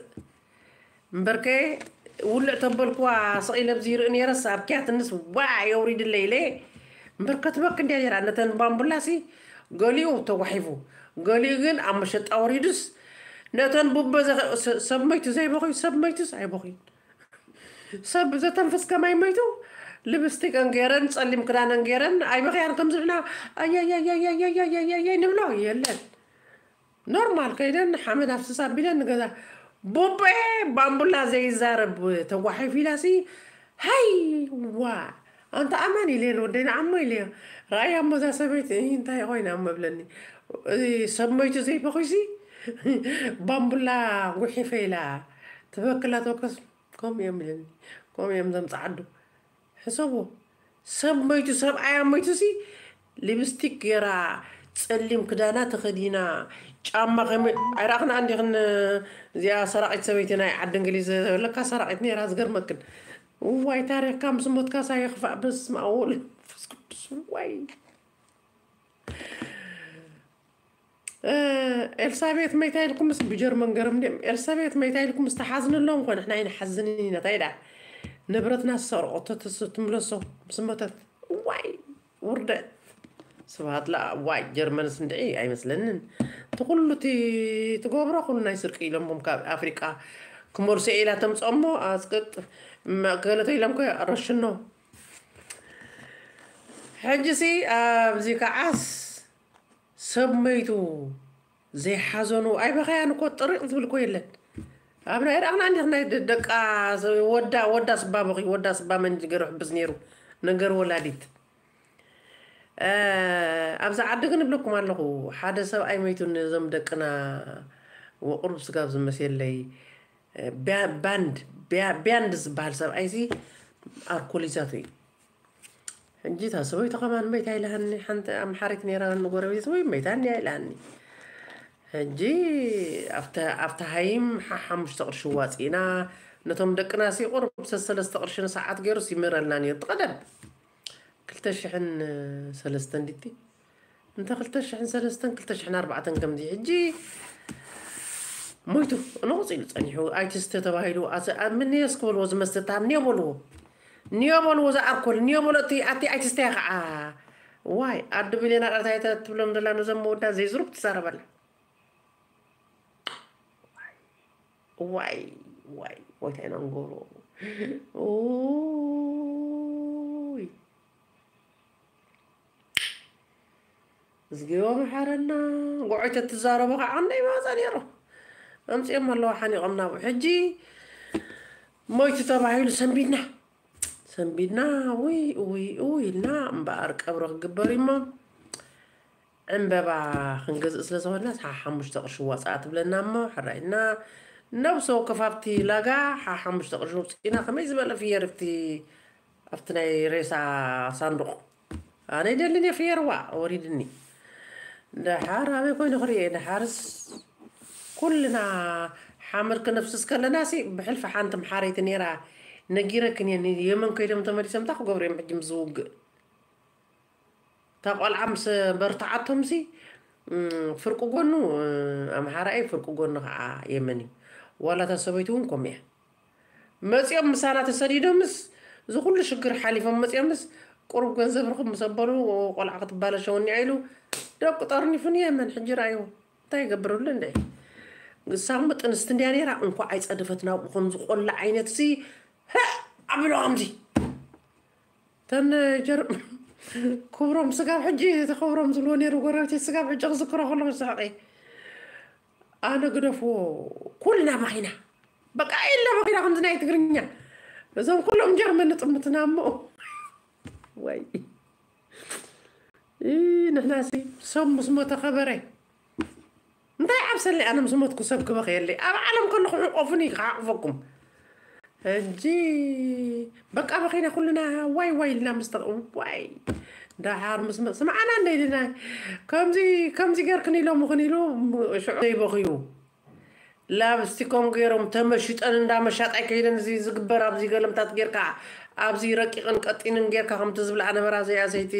እምበርከ፣ ውልዕ ተበልኩዋ ስቕ ኢለ ኣብዚ ይርኢ ነይረስ ኣብ ኪያትንስ ዋ የውሪድለይ ኢለ። እምበር ከትበክ እንድያ ነይራ። ነተን ባምቡላሲ ገሊኡ ተጓሒፉ፣ ገሊኡ ግን ኣብ መሸጣ ወሪዱስ፣ ነተን ቡበ ዘኸ-፣ ሰ-፣ ሰብ መይቱ ዘይበኹዩ፣ ሰብ መይቱስ ኣይበኹዩን። ሰብ ዘተንፍስ ከማይ መይቱ፣ ልብስቲከን ገይረን ጸሊም ክዳነን ገይረን ኣይበኽያን። ከምዚ ንሕና ኣየየየየየየየየይ ንብሎ የለን። ኖርማል ከይደን ሓመድ ኣፍስስ ኣቢለን ንገዛ። ቡቤ ባምቡላ ዘይዛረብ ተጓሒፍ ኢላሲ፣ ሃይ ዋ፣ ኣንታ ኣማን ኢለ ወደይ ንዓሞ ኢለ። ራእያ እሞ እዛ ሰበይቲ እንታይ ኮይና እሞ ብለኒ። እዚ ሰብ መይቱ ዘይበኹይሲ ባምቡላ ጉሒፈ ኢላ ትበክላ ተወከስ። ከምኡ እዮም ኢለኒ። ከምኡ እዮም ዘምፅዓዱ። ሕሰቡ። ሰብ መይቱ፣ ሰብኣያ መይቱ ሲ ሊፕስቲክ ገይራ፣ ጸሊም ክዳና ተኸዲና፣ ጫማ ከመይ ኣይረኣኽን ኣንዲኽን? እዚኣ ሰራቒት ሰበይቲ ናይ ዓዲ እንግሊዝ ለካ ሰራቒት ነይራ። ዝገርመክን፣ እዋይ ታሪኽካ ምስ ሞትካ ሳይ ክፋእ። በስመ ኣብ ወወልድ ወመንፈስ ቅዱስ። እዋይ። ኤልሳቤት መይታ ኢልኩምስ ብጀርመን ገርም ድም ኤልሳቤት መይታ ኢልኩምስ ተሓዝንሎም ኮነ ንሕና ኣይንሓዝንን ኢና። እንታይ ዳ ንብረትና ዝሰርቆቶ ትስ- ትምለሶ ምስ ሞተት። ዋይ ውርደት። ስብሃት ላ ዋይ ጀርመንስ እንድዒ ኣይመስለንን። እቲ ኩሉ እቲ ትገብሮ ኩሉ ናይ ስርቂ ኢሎምም ካብ ኣፍሪቃ ክመልሶ ኢላ ተምፅኦሞ ኣስቅጥ መገለቶ ኢሎም ኮ ረሽኖ። ሕጂ ሲ ኣብዚ ከዓስ ሰብ መይቱ ዘይሓዘኑ ኣይበኸያን እኮ ጥሪቕ ዝብል እኮ የለን። ኣብ ናይ ዳቕና እንዲኽ ናይ ደ- ደቃ ወዳ ወዳ ስባ በኺ ወዳ ስባ መን ገሩ ሕብስ ነይሩ ነገር ወላዲት። ኣብዚ ዓዲ ግን እብለኩም ኣለኹ ሓደ ሰብኣይ መይቱ ነዞም ደቅና ወቕሩብ ስጋብ ዝመሴለይ ባንድ ቢያንድ ዝበሃል ሰብኣይሲ ኣርኮሊዛቱ እዩ። ሕጂ እታ ሰበይቱ ከማን መይታ ኢላሃኒ ሓንቲ ኣምሓሪት ነይራ ንጎረቤት ወይ መይታ እንዲያ ኢላሃኒ። ሕጂ ኣብታ ሃይም ሓሙሽተ ቅርሺ ዋፂእና ነቶም ደቅና ሲቁር ሰለስተ ቅርሺ ንሰዓት ገይሩ ሲምረልና ነይሩ። ቀደም ክልተ ሽሕን ሰለስተ እንዲቲ እንተ ክልተ ሽሕን ሰለስተን ክልተ ሽሕን ኣርባዕተን ከምዚ ሕጂ ሞይቱ ንቑፅ ኢሉ ፀኒሑ ኣይትስተ ተባሂሉ። ምንየስ ክበልዎ ዝመስተታ ንዮ በልዎ ንዮ በልዎ ዝኣርኮል ንዮ በሎ እቲ ኣቲ ኣይትስተያ ከዓ ዋይ ኣዱ ቢልዮና ቃልታ ትብሎም ዘላ ነዞም መወዳ ዘይዝሩብ ትዛረበላ። ዋይ ዋይ ዋይ እንታይ ኢና ንገብሮ? ኡይ እዝግዮ መሓረና። ጎዖይ ተትዛረቦ ከዓ እንደ ይመፃ ነይሮ ኣምፅኦም ኣለዋ ሓኒቆም ናብኡ ሕጂ ሞይቱ ተባሂሉ ሰንቢድና ሰንቢድና ውይ ውይ ውይ ኢልና እምበኣር ቀብሪ ክግበር እሞ ዕምበባ ክንገዝእ ስለ ዝኾንና ሓ ሓሙሽተ ቅርሺ ዋፃኣ ትብለና እሞ ሕራይ ኢልና ነብሲ ወከፍ ኣብቲ ላጋ ሓ ሓሙሽተ ቅርሺ ውፅኢና ከመይ ዝበለ ፍየር ኣብቲ ኣብቲ ናይ ሬሳ ሳንዱቕ ኣነ ይደልን እየ ፍየርዋ ወሪድኒ። ደሓር ኣበይ ኮይኑ ክርእየ ደሓርስ ኩልና ሓመድ ክነፍስስ ከለና ሲ ብሕልፊ ሓንቲ መሓረይቲ ነይራ ነጊረክን እየ የመን ከይዶም ተመሊሶም እንታይ ክገብሩ እዮም ሕጂ ምስ ዝውግእ እታ ቆልዓ ምስ በርትዓቶም ሲ ፍርቂ ጎኑ ኣምሓራይ ፍርቂ ጎኑ ከዓ የመን እዩ ዋላ እታ ሰበይቲ እውን ከምኡ እያ መፂኦም ምሳና ተሰዲዶምስ እዚ ኩሉ ሽግር ሓሊፎም መፂኦምስ ቁሩብ ገንዘብ ርኽብ ምስ ኣበሉ ቆልዓ ክትባለሸወኒ ኢሉ ደቁ ጠርኒፉ ንየመን ሕጂ ረኣይዎ እንታይ ይገብርሉ እንደ ንሳ ምጥንስቲ እንድያ ነይራ እንኳ ኣይፀደፈት ናብኡ ከም ዝቆላ ዓይነት ሲ ኣቢሎ ከምዚ ተን ጀር ክብሮም ስጋብ ሕጂ ተኸብሮም ዝብልዎ ነይሩ ጎረቤት ስጋብ ሕጂ ክዝክሮ ከሎ ስሕቂ ኣነ ግደፍዎ ኩልና በኺና በቃ ኢልና በኺና ከምዚ ናይ ትግርኛ እዞም ኩሎም ጀርመን ንጥምትና እሞ። ወይ። ኢ፣ ንሕናሲ ሰብ ምስ ሞተ ከበረ። እንታይ ዓብሰለይ ኣነ ምስ ሞትኩ ሰብ ክበኽየለይ። ኣብ ዓለም ከለኹ ሕቆፉኒ ክሓቕፈኩም። ሕጂ በቃ በኺና ኩልና ዋይ ዋይ ኢልና ምስ ተቕ-፣ ዋይ። ደሓር ምስ መ-፣ ስምዓና እንደ ኢልና ከምዚ፣ ከምዚ ገርክን ኢሎምኽን ኢሉ ሽዑ ዘይበኽዩ። ላብስቲኮም ገይሮም ተመሽጠን እንዳ መሻጣይ ከይደን እዚ ዝግበር ኣብዚ ገለምታት ጌርካ ኣብዚ ረቂቕን ቀጢንን ጌርካ ከምቲ ዝብልኣ ነበራ እዚኣ ሰይቲ፣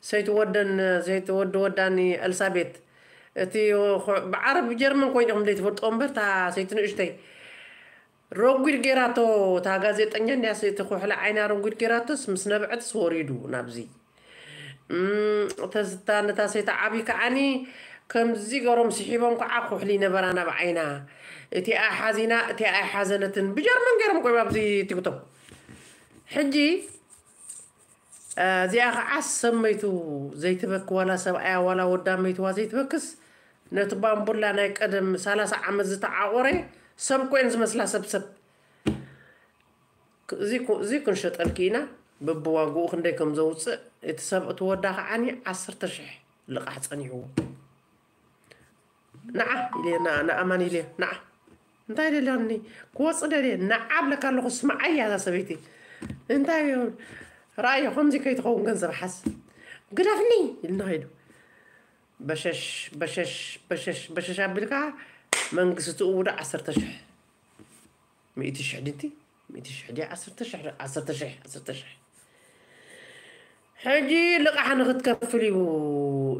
ሰይቲ ወደን፣ ሰይቲ ወዲ ወዳኒ ኤልሳቤት። እቲ ኹ-፣ ብዓረብ ጀርመን ኮይንኹም ዘይትፈልጥዎ እምበር እታ ሰይቲ ንእሽተይ ረጒድ ጌራቶ፣ እታ ጋዜጠኛ እንድያ ሰይቲ ኩሕሊ ዓይና ረጒድ ጌራቶስ ምስ ነብዐትስ ወሪዱ ናብዚ። እም፣ ተዝታ ነታ ሰይቲ ዓቢ ከዓኒ ከምዚ ገሮም ስሒቦም ከዓ ኩሕሊ ነበራ ናብ ዓይና። እቲኣ ሓዚና፣ እቲኣ ኣይሓዘነትን። ብጀርመን ገይሮም ቆይባ ኣብዚ ቲክቶክ። ሕጂ፣ እ፣ እዚኣ ከዓ ሰብ መይቱ ዘይትበክ ዋላ ሰብኣያ ዋላ ወዳ መይትዋ ዘይትበክስ። ነቲ ባምቡላ ናይ ቀደም ሰላሳ ዓመት ዝተዓቆረ ሰብ ኮይን ዝመስላ ሰብ ሰብ። ክ-፣ እዚ ኩ-፣ እዚ ክንሸጠልኪ ኢና። በብዋግኡ ክንደይ ከም ዘውፅእ እቲ ሰብ እቲ ወዳ ከዓኒ ዓሰርተ ሽሕ ልቓሕ ፀኒሕዎ። ንዓ ኢለ፣ ንዓ፣ ንኣማን ኢለ፣ ንዓ። እንታይ ደልያኒ? ክወፅእ ደልየ፣ ንዓ ብለካ ኣለኹ፣ ስምዓያ እዛ ሰበይቲ። እንታይ እዩ? ረኣዮ፣ ከምዚ ከይትኸውን ገንዘብ ሓዝ። ግደፍኒ! ኢልና ኸይዱ። በሸሽ፣ በሸሽ፣ በሸሽ፣ በሸሽ ኣቢልካ መንግስቲ ትእውዶ ዓሰርተ ሽሕ። ሚእቲ ሽሕ ድንቲ? ሚእቲ ሽሕ ድያ? ዓሰርተ ሽሕ፣ ዓሰርተ ሽሕ፣ ዓሰርተ ሽሕ። ሕጂ ልቓሕ ንኽትከፍል እዩ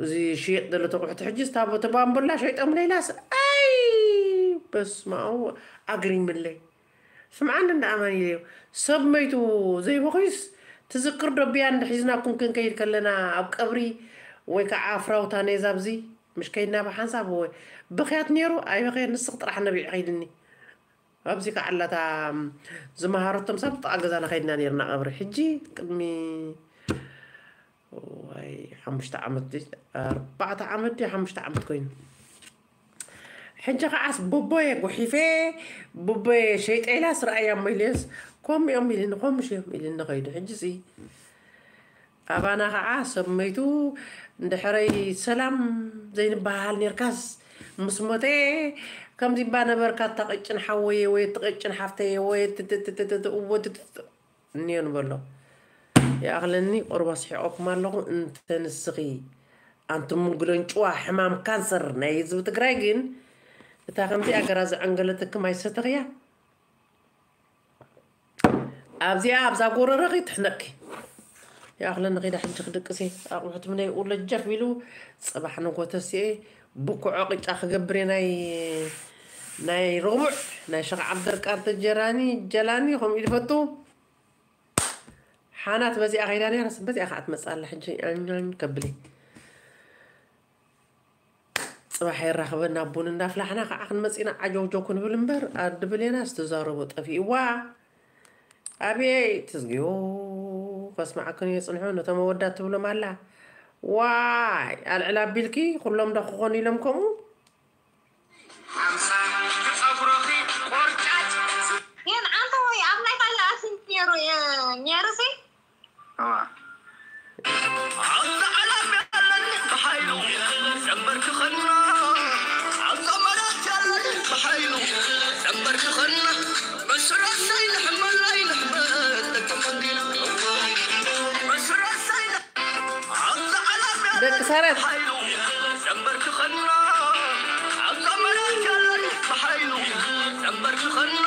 እዚ ሽየጥ ዘሎ ተቑሑት። ሕጂ ስታቦ ተባምቡላ ሸይጦም ለይላስ፣ ኣይ፣ በስመ ኣብ፣ ኣግሪምለይ። ስምዓኒ እንዳ ኣማኒኤል እዩ። ሰብ መይቱ ዘይበኽዩስ ትዝክር ዶ? ብያ እንድሒዝናኩም ክንከይድ ከለና ኣብ ቀብሪ ወይ ከዓ ፍራውታ ነዛ ኣብዚ ምሽ ከይድና ብሓንሳብ ወይ በኽያት ነይሩ። ኣይበኽየን፣ ንስኽ ጥራሕ ነቢዕ ኸይድኒ። ኣብዚ ከዓ ኣላታ ዝመሃረቶም ሰብ ጥቓ ገዛና ከይድና ነይርና ቀብሪ። ሕጂ ቅድሚ ዋይ ሓሙሽተ ዓመት ድዩ? ኣርባዕተ ዓመት ድዩ? ሓሙሽተ ዓመት ኮይኑ። ሕጂ ከዓስ ቡቦየ ጉሒፈ፣ ቡቦየ ሸይጠ ኢላስ ረኣያ እሞ ኢለስ፣ ከምኡ እዮም ኢልኒ፣ ከምኡ እዮም ኢልኒ ከይዱ። ሕጂ ሲ ኣባና ከዓ ሰብ መይቱ እንድሕረይ ሰላም ዘይንበሃል ኔርካስ፣ ምስ ሞተ ከምዚ እባ ነበርካ፣ እታ ቀጭን ሓወየ ወይ እቲ ቀጭን ሓፍተየ ወይ ትትትትትት እዎ ትትት እኒኦ ንበሎ። ይኣኽለኒ፣ ቁሩብ ኣስሒቐኩም ኣለኹ። እንተ ንስኺ ኣንቲ ምንግለንጭዋ ሕማም ካንሰር ናይ ህዝቢ ትግራይ ግን፣ እታ ከምዚኣ ገራ ዘዐንገለትክም ኣይሰተኽያ። ኣብዚኣ፣ ኣብዛ ጎረረኺ ትሕነቅኪ። ይኣኽለኒ፣ ኸይዳ ሕጂ ክድቅስ እየ። ኣቑሑት ምነይ ኡለ ጀፍ ኢሉ፣ ጽባሕ ንጎተስ እየ ብኩዖ ቅጫ ክገብር እየ። ናይ፣ ናይ ረቡዕ፣ ናይ ሸኽ ዓብደርቃር ተጀራኒ፣ ጀላኒ፣ ከምኡ ኢሉ ፈቱ። ሓናት በዚኣ ከይዳ ነይራስ፣ በዚኣ ከዓ ትመጽእ ኣላ ሕጂ። ኣኛኝ ከብሊ። ጽባሕ የራኽበና፣ ቡን እንዳፍላሕና ከዓ ክንመጽእ ኢና። ዓጀውጀው ክንብል እምበር፣ ኣዲ ብሌናስ ትዛረቦ ጠፊእዋ። ኣቤት፣ ትዝግዮ፣ ከስምዓክን እየ ጽንሑ፣ ነቶም ኣወዳት ትብሎም ኣላ። ዋይ፣ ኣልዕል ኣቢልኪ፣ ኩሎም ዶ ክኾኑ ኢሎም ከምኡ? ሓምሳ ጸጉርኺ ቆርጫጭ። የን ኣንተ ወይ ኣብ ናይ ካልእ ኣትዩ ነይሩ፣ የ-፣ ነይሩ ሲ? እዋ። ኣብዛ ዓለም ያለን ብሓይሉ ዘንበርክኸና፣ ኣብዛ መሬት ያለን ብሓይሉ ዘንበርክኸና፣ መስረሰይ ንሕመላይ ንሕመት ደቂ ቀንዲል፣ መስረሰይ ን-፣ ኣብዛ ዓለም ያለን ደቂ ሰረት። ብሓይሉ ዘንበርክኸና፣ ኣብዛ መሬት ያለን ብሓይሉ ዘንበርክኸና፣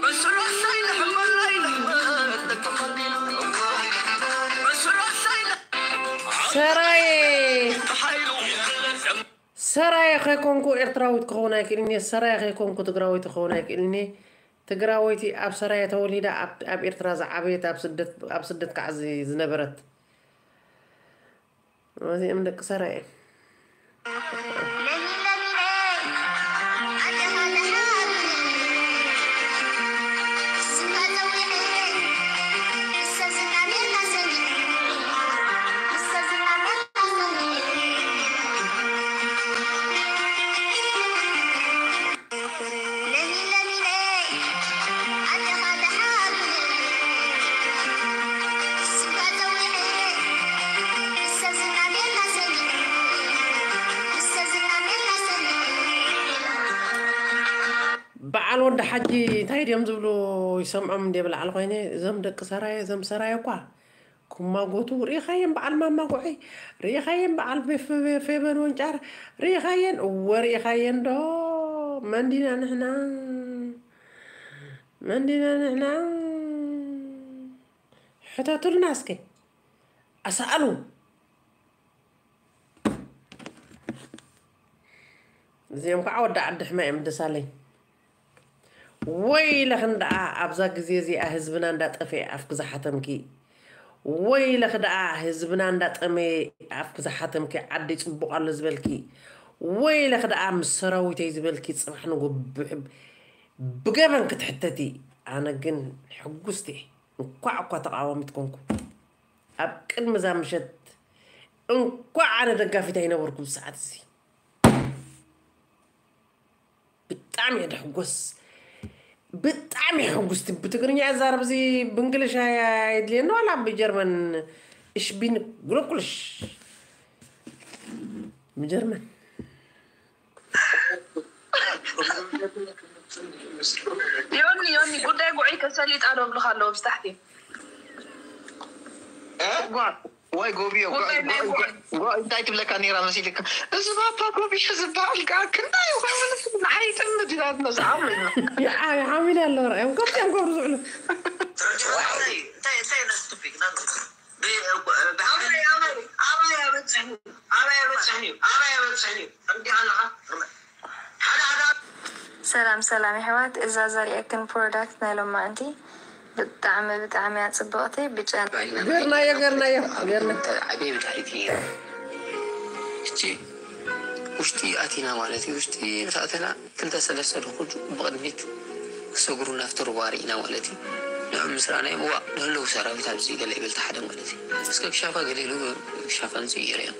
መስረሰይ ንሕመላይ ንሕመት ደቂ ቀንዲል፣ መስረሰይ ን-፣ ሰራየ። ብሓይሉ ዘን- ሰራየ ከይኮንኩ ኤርትራዊት ክኸውን ኣይክእልን እየ። ሰራየ ከይኮንኩ ትግራወይቲ ክኸውን ኣይክእልን እየ። ትግራወይቲ ኣብ ሰራየ ተወሊዳ ኣብ፣ ኣብ ኤርትራ ዝዓበየት፣ ኣብ ስደት፣ ኣብ ስደት ከዓ ዝ-፣ ዝነበረት። እዚኦም ደቂ ሰራየ። በዓል ወዲ ሓጂ እንታይ ድዮም ዝብሉ ይሰምዖም እንደ ብላዕል ኮይነ፣ እዞም ደቂ ሰራየ፣ እዞም ሰራየ እኳ ክማጎቱ ርኢኻየን፣ በዓል ማማ ጉዐይ ርኢኻየን፣ በዓል ቤፍ-፣ ቤ-፣ ፌበን ወንጫር ርኢኻየን፣ እወ ርኢኻየን ዶ? መን ዲና ንሕና? መን ዲና ንሕና? ሕተቱልና እስከ። ኣሰኣሉ። እዚኦም ከዓ ወዲ ዓዲ ሕማ እዮም ደሳለኝ። ወይለኽን ደኣ ኣብዛ ግዜ እዚኣ ህዝብና እንዳጠፍኤ ኣፍኪ ዝሓተምኪ። ወይለኽ ደኣ ህዝብና እንዳጠመየ ኣፍኪ ዝሓተምኪ። ዓዲ ጽቡቕ ኣሎ ዝበልኪ። ወይለኽ ደኣ ምስ ሰራዊተይ ዝበልኪ ጽባሕ ንጎ ብሕ-፣ ብገበን ክትሕተቲ። ኣነ ግን ሕጉስቲ እየ። እንኳዕ እኳ ተቃዋሚት ኮንኩ። ኣብ ቅድሚ እዛ ምሸት እንኳዕ ኣነ ደጋፊት ኣይነበርኩ ብሰዓት እዚ። ብጣዕሚ እየ ደሕጎስ። ብጣዕሚ እየ ሕጉስቲ። ብትግርኛ እዛረብ እዚ ብእንግሊሽ ኣይ-፣ ኣየድልየኒ ዋላ ብጀርመን እሽቢን ግሎኩልሽ። ብጀርመን። ዮኒ፣ ዮኒ፣ ጉዳይ ጉዕይ ከሰሊጣ ዶ ብልኻ ኣለዎ ብስታሕቲ? እ? ጓ-፣ ወይ ጎብዮ፣ ጓ-፣ ጉዳይ ናይ ጓ-፣ ጓ-፣ ጓ-፣ እንታይ ትብለካ ነይራ መሲልካ? እዚ ባባ ጎብዮ ዝበሃል ከዓ ክንዳይ ይኸውን? ንዓይ ጥምድ ኢላትና ዝዓብለና። ይዓ-፣ ይዓሚል ኣሎ ርኣዮም። ከምዚኦም ገብሩ ዝውዕሉ። እንታይ እንታይ እንታይ ነስቱፊክ ናንቱ ብ- ብ- ኣበይ ኣበይ ኣበይ ኣበፅሕኒ ኣበይ ኣበፅሕኒ ኣበይ ኣበፅሕኒ ከምዚ ኣለኻ ሓደ ሓደ ሰላም ሰላም የሕዋት፣ እዛ ዘርእየክን ፕሮዳክት ናይ ሎማዕንቲ ብጣዕሚ ብጣዕሚ እያ ጽብቕቲ። ብጨና ገርናዮ ገርናዮ ገርና ዓብየ ብድሕሪት እዩ። እቺ ውሽጢ ኣቲና ማለት እዩ። ውሽጢ ምስ ኣተና ክልተ ሰለስተ ድኹድ ብቕድሚት ክሰግሩ ናብቲ ሩባ ርኢና ማለት እዩ። ንዕም ምስ ረኣናዮም እዋ ንህልው ሰራዊት ኣብዚ ገለ ይብል ሓደ ማለት እዩ። እስከ ክሻፋ ገለ ኢሉ ክሻፋ ንጽይር እዮም።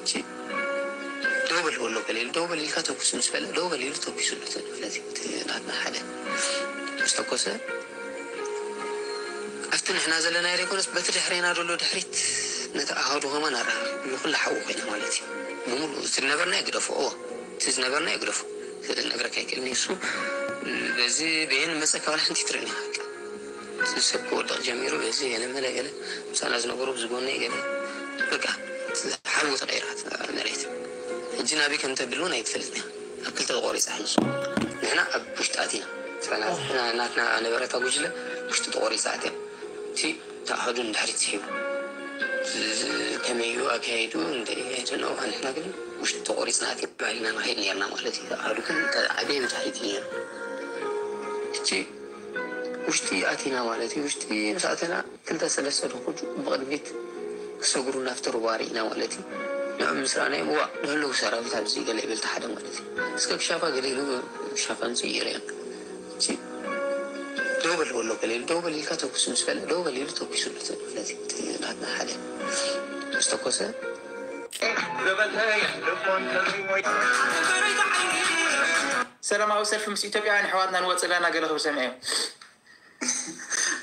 እቺ ደው በል በሎ ገለ ኢሉ ደው በል ኢልካ ተኩስ ምስ በለ ደው በል ኢሉ ተኩሱ ነቲ ማለት እዩ። እቲ ናትና ሓደ ምስ ተኮሰ ኣብቲ ንሕና ዘለናዮ ዘይኮነስ በቲ ድሕሬና ዘሎ ድሕሪት ነቲ ኣሃዱ ከማን ኣራ ንኩሉ ሓዊ ኮይና ማለት እዩ። ብምሉእ እቲ ዝነበርናዮ ግደፎ፣ እዎ እቲ ዝነበርናዮ ግደፎ። ነግረካ ኣይክእልን እዩ እሱ። በዚ በየን መፀካ ዋላ ሓንቲ ትርእን ኢኻ። በቃ እቲ ሰብ ክወድቕ ጀሚሩ በዚ ገለ መለ ገለ ምሳና ዝነበሩ ብዝጎነይ ገለ በቃ እቲ ሓዊ ተቐይራ እታ መሬት። ሕጂ ናበይ ከም ተብል እውን ኣይትፈልጥን ኢኻ። ኣብ ክልተ ተቖሪፃ ሕጂ ንሕና ኣብ ውሽጢ ኣቲና ናትና ነበረታ ጉጅለ ውሽጢ ተቖሪፃ ኣትያ። እቲ ተኣህዱ ንድሕሪት ስሒቡ ከመይ እዩ ኣካይዱ እንታይ ኣይትነው። ንሕና ግን ውሽጢ ተቆሪፅና ኣቲና ባዕልና ንኸይድ ነርና ማለት እዩ። ተኣህዱ ግን ዓብየ ብድሕሪት እዩ ነሩ። እቲ ውሽጢ ኣቲና ማለት እዩ። ውሽጢ ምስ ኣተና ክልተ ሰለስተ ድኹድ ብቕድሚት ክሰግሩ ናብቲ ሩባ ርኢና ማለት እዩ። ንዕም ምስ ረኣናዮም እዋ ንህልው ሰራዊት ኣብዚ ገለ ይብል ሓደ ማለት እዩ። እስከ ክሻፋ ገለ ኢሉ ክሻፋ ንፅይር እዮም። እቺ ደው በል በሎ ገለ ኢሉ ደው በል ኢልካ ተኩስ ምስ በለ ደው በል ኢሉ ተኩሱ ነቲ ማለት እዩ። እቲ ናትና ሓደ ምስ ተኮሰ ሰላማዊ ሰልፊ ምስ ኢትዮጵያውያን ኣሕዋትና ንወፅእ ኣለና ገለ ክብል ሰሚዐ።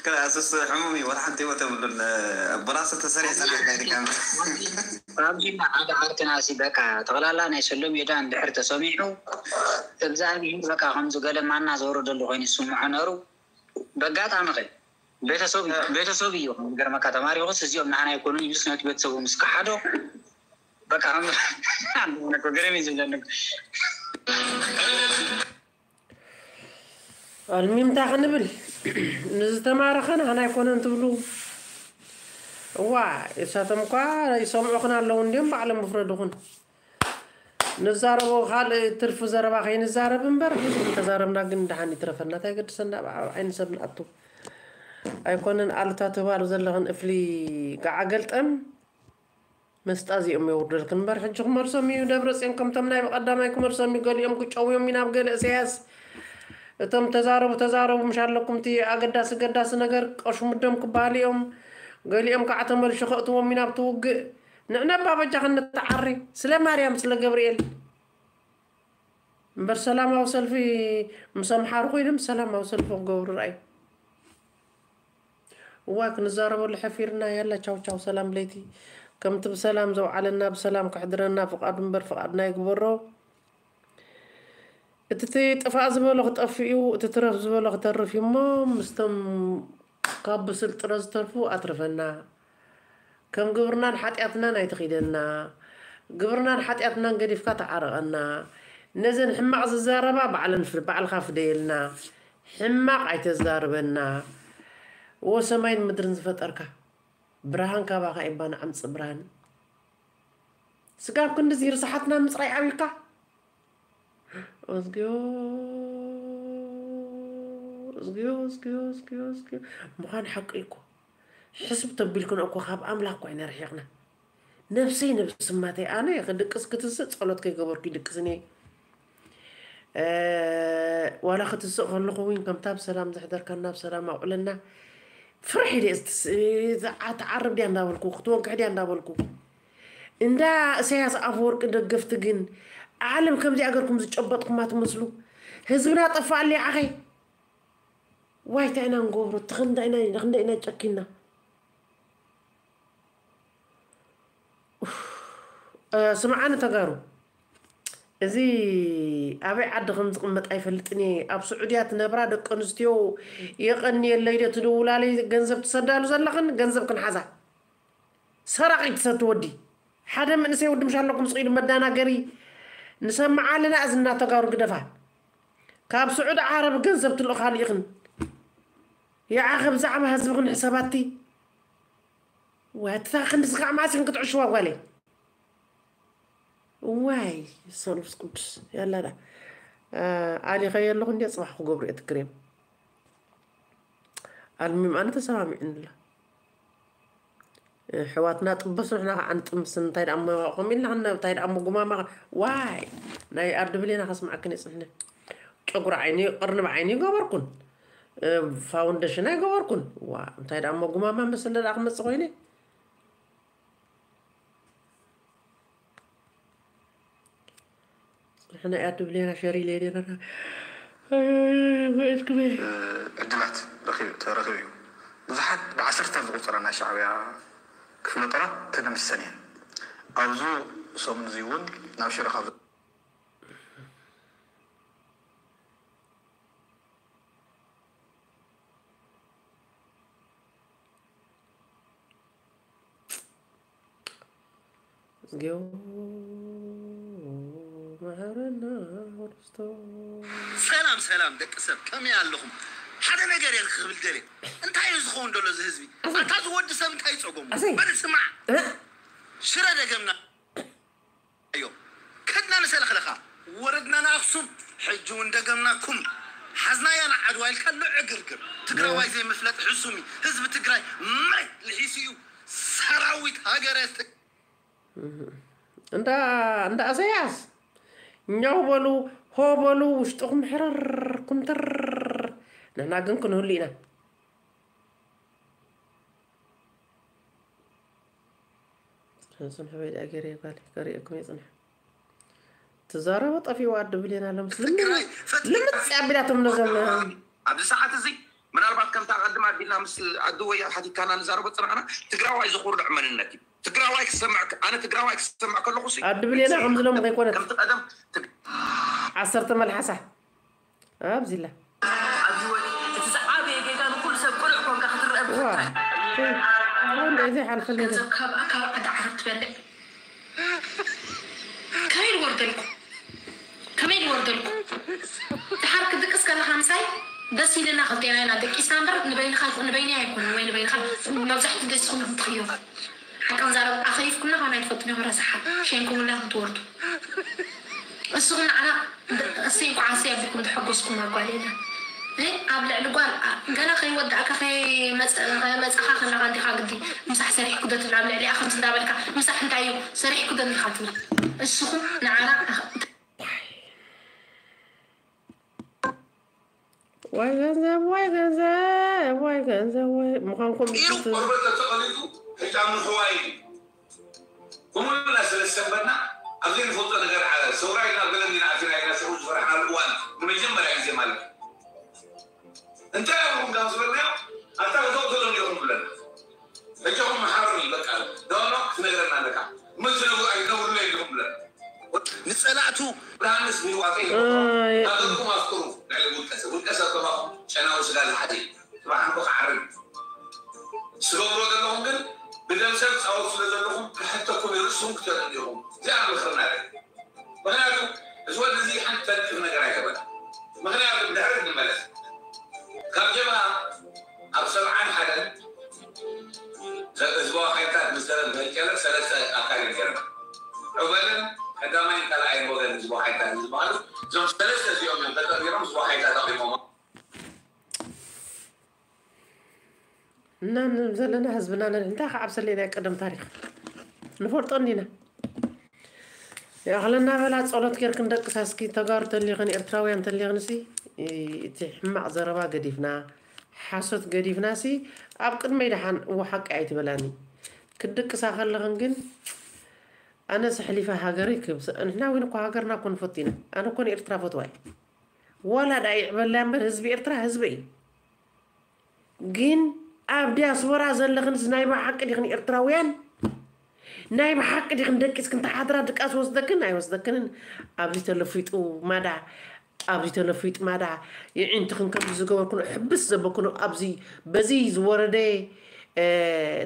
ክላስስ ሕሙም እዩ ወላ ሓንቲ ህይወት የብሉን። ብራስ ተሰሪሕ ሰራሕ ናይ ድካም ራምዚና ሓደ ዓርክና ሲ በቃ ጠቕላላ ናይ ሰሎም ሜዳ እንድሕር ተሰሚዑ እግዚኣብሔር በቃ ከምዚ ገለ ማና ዘወረደሉ ኮይኑ ዝስምዖ ነሩ። በጋጣሚ ኸ ቤተሰብ ቤተሰብ እዩ ዝገርመካ ተማሪኹስ እዚኦም ንዓና ኣይኮኑን ኢሉስ ነቲ ቤተሰቡ ምስ ከሓዶ በቃ ከም ገረም እዩ ዝብለኒ። ኣልሚምታ ክንብል ንዝተማረኸ ንዓና ኣይኮነን ትብሉ። እዋ እሳቶም እኳ ይሰምዑኽን ኣለዉ እንዲዮም ባዕሎም ይፍረዱኽን። ንዛረቦ ካልእ ትርፊ ዘረባ ከይንዛረብ እምበር ብዙሕ እንተዛረብና ግን ደሓን ይትረፈና እንታይ ገድሰና ኣብ ዓይኒ ሰብ ንኣቱ ኣይኮነን። ኣሉታ ትባሉ ዘለኽን እፍሊ ገዓ ገልጠም መስጣ እዚኦም የውርደልክን እምበር ሕጂ ክመልሶም እዩ ደብረፅዮን ከምቶም ናይ ብቐዳማይ ክመልሶም እዩ። ገሊኦም ክጨውዮም እዩ ናብ ገለ እሰያስ እቶም ተዛረቡ ተዛረቡ ምሽ ኣለኩም እቲ ኣገዳሲ ገዳሲ ነገር ቀሹ ምደም ክበሃሉ እዮም። ገሊኦም ከዓ ተመልሹ ከእትዎም እዩ ናብቲ ውግእ። ንዕነባ በጃ ክንተዓሪ ስለ ማርያም ስለ ገብርኤል እምበር ሰላማዊ ሰልፊ ምስ ኣምሓሩ ኮይኖም ሰላማዊ ሰልፊ ክገብሩ ረኣዩ። እዋ ክንዛረበሉ ሓፊርና ያላ ቻው ቻው ሰላም ለይቲ ከምቲ ብሰላም ዘውዓለና ብሰላም ከሕድረና ፍቃዱ እምበር ፍቃድና ይግበሮ። እቲ ጥፋእ ዝበሎ ክጠፍእ እዩ፣ እቲ ትረፍ ዝበሎ ክተርፍ እዩ እሞ፣ ምስቶም ካብ ብስል ጥረ ዝተርፉ ኣትርፈና። ከም ግብርናን ሓጢኣትናን ኣይትኺደና። ግብርናን ሓጢኣትናን ገዲፍካ ተዓረቐና። ነዘን ሕማቕ ዝዛረባ ባዕለን ፍር-፣ ባዕልኻ ፍደየልና። ሕማቕ ኣይተዛርበና። ወ ሰማይን ምድርን ዝፈጠርካ፣ ብርሃን ካባኻ እባ ንዓምጽእ ብርሃን። ስጋብ ክንድዚ ርስሓትና ምጽራይ ኣብዩካ? እዝግዮ፣ እዝግዮ፣ እዝግዮ፣ እዝግዮ፣ እዝግዮ። ምዃን ሓቂ እኮ። ሕስብ ተቢልክን እኮ ካብ ኣምላኽ እኮ ኢና ርሒቕና። ነብሰይ ነብስማተይ ኣነ ክድቅስ ክትስእ ጸሎት ከይገበርኩ ይድቅስን እየ። እ፣ ዋላ ክትስእ ከለኹ እውን ከምታ ብሰላም ዘሕደርካና ብሰላም ኣውዕለና። ፍርሒ ድየ ዝትስ-፣ ትዓ-፣ ትዓርብ ድያ እንዳበልኩ፣ ክትወግሕ ድያ እንዳበልኩ። እንዳ እሰያስ ኣፈወርቂ ደገፍቲ ግን ዓለም ከምዚኣ ገርኩም ዝጨበጥኩማ ትመስሉ። ህዝብና ጠፋኣለ ይዓኸይ። ዋይ፣ እንታይ ኢና ንገብሮ? እቲ ክንደይ ኢና፣ ክንደይ ኢና ጨኪና? ኡፍ። እ፣ ስምዓኒ ተጋሩ፣ እዚ ኣበይ ዓዲ ከም ዝቕመጥ ኣይፈልጥን እየ። ኣብ ስዑድያ ትነብራ ደቂ ኣንስትዮ የቐንየለይ ዶ ትድውላለይ ገንዘብ ትሰዳሉ ዘለኽን ገንዘብ ክንሓዛ። ሰራቒ ትሰቲ ወዲ። ሓደ መንእሰይ ወዲ ምሽ ኣለኩም ስቕ ኢሉ መዳናገሪ ንሰምዓ ኣለና። እዝና ተጋሩ ግደፋ። ካብ ስዑዲ ዓረብ ገንዘብ ትልእኻሉ ኢኽን። ይዓኸ ብዛዕባ ህዝብኽን ሕሰባቲ። ወትታ ክንድዚ ከዓ መዓስ ኢኽን ክትዕሽዋ ጓለይ? ዋይ ሰንፍስ ቅዱስ ያላዳ። ኣሊኸ የለኹ እንዲ ጽባሕ ክገብሩ እየ ትክሬም። ኣልሚም ኣነ ተሰማሚዕንላ። ኣሕዋትና ጥበሱ ንሕና ከዓ ንጥምስ። እንታይ ደኣ እሞ ከምኡ ኢልና ክንነ-፣ እንታይ ደኣ እሞ ጉማማ። ዋይ ናይ ኣርዲ ብሌና ከስምዓክን እየ ጽንሐ። ጨጉሪ ዓይኒ ቅርንብ ዓይኒ ይገበርኩን፣ እ፣ ፋውንደሽን ኣይገበርኩን። ዋ እንታይ ደኣ እሞ ጉማማ መሰለ ደኣ ክመጽእ ኮይነ። ጽንሕና እያ ድብሌና ሸሪ ሌሌና። ኣይ፣ ኣይ፣ ኣይ፣ ኣይ፣ ኣይ፣ ኣይ፣ ኣይ። ዕድላት ረኺቡ፣ ተረኺቡ እዩ። ብዙሓት ብዓሰርታት ዝቑጸራ ናይ ሻዕብያ ክፍለ ጦራት ተደምሲሰን እየን። ኣብዚ ሰሙን እዚ እውን ናብ ሽረ ካብ እዝግዮ መሐረና ክርስቶስ። ሰላም ሰላም ደቂ ሰብ፣ ከመይ ኣለኹም? ሓደ ነገር እየ ክብል ደልየ። እንታይ እዩ ዝኸውን ደሎ እዚ ህዝቢ? ኣታ እዚ ወዲ ሰብ እንታይ ጸገሙ? ኣሰይ። በል ስማዕ። እ? ሽረ ደገምና እዮ። ከድና ንሰለኽለኻ፣ ወረድና ንኣኽሱም፣ ሕጂ እውን ደገምናኩም። ሓዝናያ ንዓድዋ ኢልካ ኣሎ ዕግርግር። ትግራዋይ ዘይምፍለጥ ሕሱም እዩ። ህዝቢ ትግራይ መሬት ልሒሱ እዩ። ሰራዊት ሃገረ እንዳ፣ እንዳ እሰያስ ኛው በሉ፣ ሆ በሉ፣ ውሽጥኹም ሕርር ኩምትር። ንሕና ግን ክንህሉ ኢና። ጽንሕ፣ ጽንሕ በይ ደኣ ገይረ ጓል፣ ከርእየኩም እየ ጽንሕ። ትዛረቦ ጠፊኡ ኣዲ ብሌን ኣሎ ምስ ልምጽ፣ ትግራይ ፈትሊ ልምጽ ኣቢላቶም ነዞም ኣብዚ ሰዓት እዚ ምናልባት ከምታ ቀድም ኣቢልና ምስ ኣዲ ወያ ሓቲትካና ንዛረቦ ጽናዕና ትግራዋይ ዘኹርዕ መንነት እዩ። ትግራዋይ ክሰምዕ፣ ኣነ ትግራዋይ ክሰምዕ ከለኹ ሲ-፣ ኣዲ ብሌና ከም ዝሎም ከይኮነት። ከምቲ ቀደም ትግ-፣ ዓሰርተ መልሓሳ ኣብዚላ። ኣብዚ ወ-፣ እቲ ዝዓበየ ጌጋ ንኩሉ ሰብ ቅኑዕ ኮንካ ክትረአ ዋ። ብፍታን። ወንድ እዚ ሓልፈለገ። ገንዘብ ካብ፣ ካብ ዓዲ ዓረብ ትበልዕ። ከመይ ልወርደልኩ? ከመይ ልወርደልኩ? ድሓር ክድቅስ ከለኻ ምሳይ ደስ ኢልና ክልቴና ኢና ደቂስና እምበር ንበይንኻ ይኹን ንበይነይ ኣይኮኑን ወይ ንበይንኻ መብዛሕትኡ ደስ ይኹን ትኽዮ። ሓቂ ክንዛረብ ኣኸይፍኩና ካብ ናይ ትፈልጡኒ ረሳሓት ሸንኩምና ክትወርዱ። እስኹም ንዓና እሰይ እንኳዕ እሰይ ኣቢልኩም ተሐጎስኩም ኣጓል የለን። እ፣ ኣብ ልዕሊ ጓል፣ ኣ፣ ገና ከይወዳእካ ከይመጸ-፣ ከይመጻኻ ከለኻ እንዲኻ ግዲ ምሳሕ ሰሪሕኩ ዶ ትብል ኣብ ልዕሊኣ ከምዚ እንዳበልካ ምሳሕ እንታይ እዩ ሰሪሕኩ ዶ እንዲኻ ትብል። እስኹም ንዓና ወይ ገንዘብ፣ ወይ ገንዘብ፣ ወይ ገንዘብ፣ ወይ ምዃንኩም ኢሉ ብትር-፣ ቆርበት ተተቐሊጡ ሕጂ ኣብ ምሕዋይ እዩ። ከምኡና ስለ ዝሰንበድና፣ ኣብ ዘይንፈልጦ ነገር ዓለ፣ ሰውራ ኢልና ገለ እንዲና ኣቲና ኢልና ሽዑ ዝፈራሕናሉ እዋን፣ ንመጀመርያ ግዜ ማለት እዩ። እንታይ ኣብኹም ካብ ዝበልናዮ፣ ኣታ እቶም ዘለዉ ኢኹም ብለና። በጃኹም መሓሩኒ፣ በቃ፣ ኖ፣ ኖ፣ ክትነግረና ኣለካ። እሞ ዝነግሩ ኣይነግሩለይ ኢኹም ብለና። ን-፣ ጸላእቱ ብርሃንስ ብህዋተ እዩ። ሃገርኩም ኣፍቅሩ። ልዕሊ ውልቀ ሰብ ውልቀ ሰብ ከማኹም ጨናዊ ስጋ ዝሓዘ እዩ። ጽባሕ ንጎ ክዓርግ ትገብሮ ዘለኹም ግን ብደም ሰብ ትጻወቱ ስለ ዘለኹም ክሕተኩም እዩ። ርእስኹም ክትርኢ ኢኹም። እዚኣ ምኽርና እዩ። ምኽንያቱ እዚ ወዲ እዚ ሓንቲ ተንቅፍ ነገር ኣይገበረ። ምኽንያቱ ድሕሪ ንመለስ ካብ ጀብሃ ኣብ ሰብዓን ሓደን ህዝባዊ ሓይልታት ምስ ደረግ መቀለ ሰለስተ ኣካል እዮም ገይሮም። ዑበልን ቀዳማይን ካልኣይን ወገን ህዝባዊ ሓይልታት ዝበሃሉ እዞም ሰለስተ እዚኦም እዮም ተጠሚሮም ህዝባዊ ሓይልታት ኣቑሞም። እና ንብል ዘለና ህዝብና ነንሕንታይ ክዓብሰለይ ናይ ቀደም ታሪኽ ንፈልጦ እንዲና። ይኣኽለና በላ ጸሎት ጌርክን ደቅሳ እስኪ ተጋሩ ተሊኽን ኤርትራውያን ተሊኽን ሲ እቲ ሕማቕ ዘረባ ገዲፍና ሓሶት ገዲፍና ሲ ኣብ ቅድመይ ደሓን እዎ ሓቂ ኣይትበላኒ ክድቅሳ ከለኽን ግን ኣነ ስሕሊፈ ሃገረይ ክብስ ንሕና እውን እኮ ሃገርና እኮ ንፈቱ ኢና ኣነ እኮ ንኤርትራ ፈትዋ እዩ ዋላ ዳ ይዕበላ እምበር ህዝቢ ኤርትራ ህዝበይ ግን ኣብ ዲያስፖራ ዘለኽንስ ናይ ብሓቂ ዲኽን ኤርትራውያን ናይ ብሓቂ ዲኽን ደቂስክን ተሓድራ ድቃስ ወስደክን ኣይወስደክንን ኣብዚ ተለፊጡ ማዳ ኣብዚ ተለፊጡ ማዳ ይዒንትኽን ከምዚ ዝገበርክን ሕብስ ዘበክን ኣብዚ በዚ ዝወረደ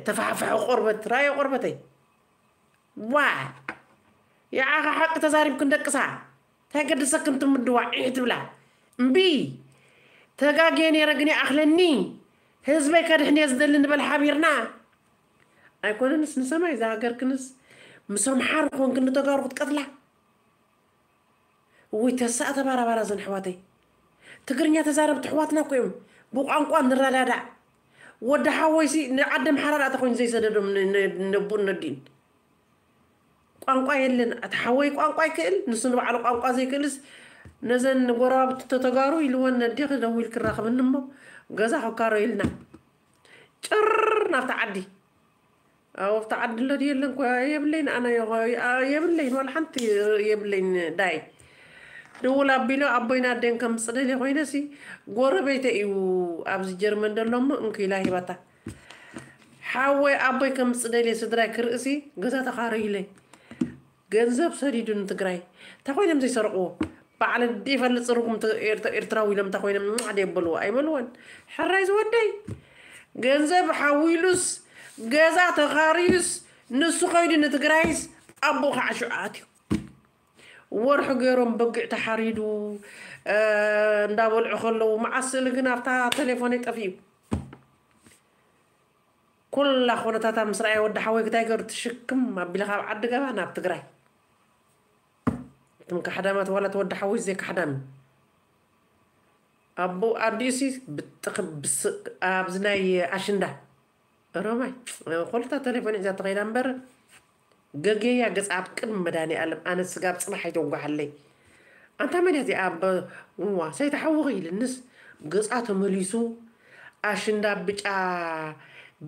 ተፋሕፍሐ ቆርበት ራዮ ቆርበተይ ዋ ያዓኻ ሓቂ ተዛሪብክን ደቅሳ እንታይ ገደሰክን ትምድዋ ዒሕ ትብላ እምቢ ተጋግየ ነይረ ግን ይኣኽለኒ ህዝበይ ከድሕን እየ ዝደሊ ንበል ሓቢርና ኣይኮነንስ ንሰማይ ዝሃገርክንስ ምስ ኣምሓሩ ኮንክን ንተጋሩ ክትቀትላ እውይ ተሳእ ተባራባራ ዘን ኣሕዋተይ ትግርኛ ተዛረብቲ ኣሕዋትና እኮ እዮም ብቋንቋ ንረዳዳእ ወዲ ሓወይሲ ንዓዲ ኣምሓራ ዳኣ ተኮይኑ ዘይሰደዶም ነቡን ነዲን ቋንቋ የለን እቲ ሓወይ ቋንቋ ይክእል ንሱ ንባዕሉ ቋንቋ ዘይክእልስ ነዘን ጎረባብቲ ተተጋሩ ኢልወን ነዴኺ ደዊልኪ ራኽብኒ እሞ ገዛ ክካሮ ኢልና ጭር ናብቲ ዓዲ ኣብቲ ዓዲ ኣሎ ድየለን ኮ የብለይን ኣነ የብለይን ዋላ ሓንቲ የብለይን ዳይ ድውል ኣቢሎ ኣቦይን ኣደን ከምፅእ ደልየ ኮይነሲ ጎረቤተ እዩ ኣብዚ ጀርመን ደሎ እሞ እንክኢላ ሂባታ ሓወይ ኣቦይ ከምፅእ ደልየ ስድራይ ክርእሲ ገዛ ተኻረዩለይ ገንዘብ ሰዲዱ ንትግራይ እንታይ ኮይኖም ዘይሰርቅዎ ባዕለ ይፈልጥ ዝርጉም ኤርትራዊ ኢሎም እንታይ ኮይኖም ሓደ የበልዎ ኣይበልዎን ሕራይ ዝወደይ ገንዘብ ሓዊሉስ ገዛ ተኻርዩስ ንሱ ከይዱ ንትግራይስ ኣቦኡ ከዓ ሽዑ ኣትዩ ወርሒ ገይሮም በጊዕ ተሓሪዱ እንዳበልዑ ከለዉ መዓስ ስእሊ ግን ኣብታ ቴሌፎነይ ጠፊኡ ኩላ ኩነታታ ምስ ረኣየ ወዲ ሓወይ ክታይ ገሩ ትሽክም ኣቢለ ካብ ዓዲ ገባ ናብ ትግራይ እቶም ካሕዳማት ዋላ ተወዲ ሓወይ ዘይ ካሕዳም ኣቦ ኣዲኡሲ ብጥቕ ብስ ኣብዚ ናይ ኣሽንዳ ሮማይ ኮልታ ተሌፎን ሒዛ ተኸይዳ እምበር ገጌያ ገጻ ኣብ ቅድሚ መድኃኒዓለም ኣነ ስጋብ ጽባሕ ኣይተውጓሓለይ ኣንታ መን እያ እዚኣ ዋ ሰይተሓውኺ ኢልንስ ገጻ ተመሊሱ ኣሽንዳ ብጫ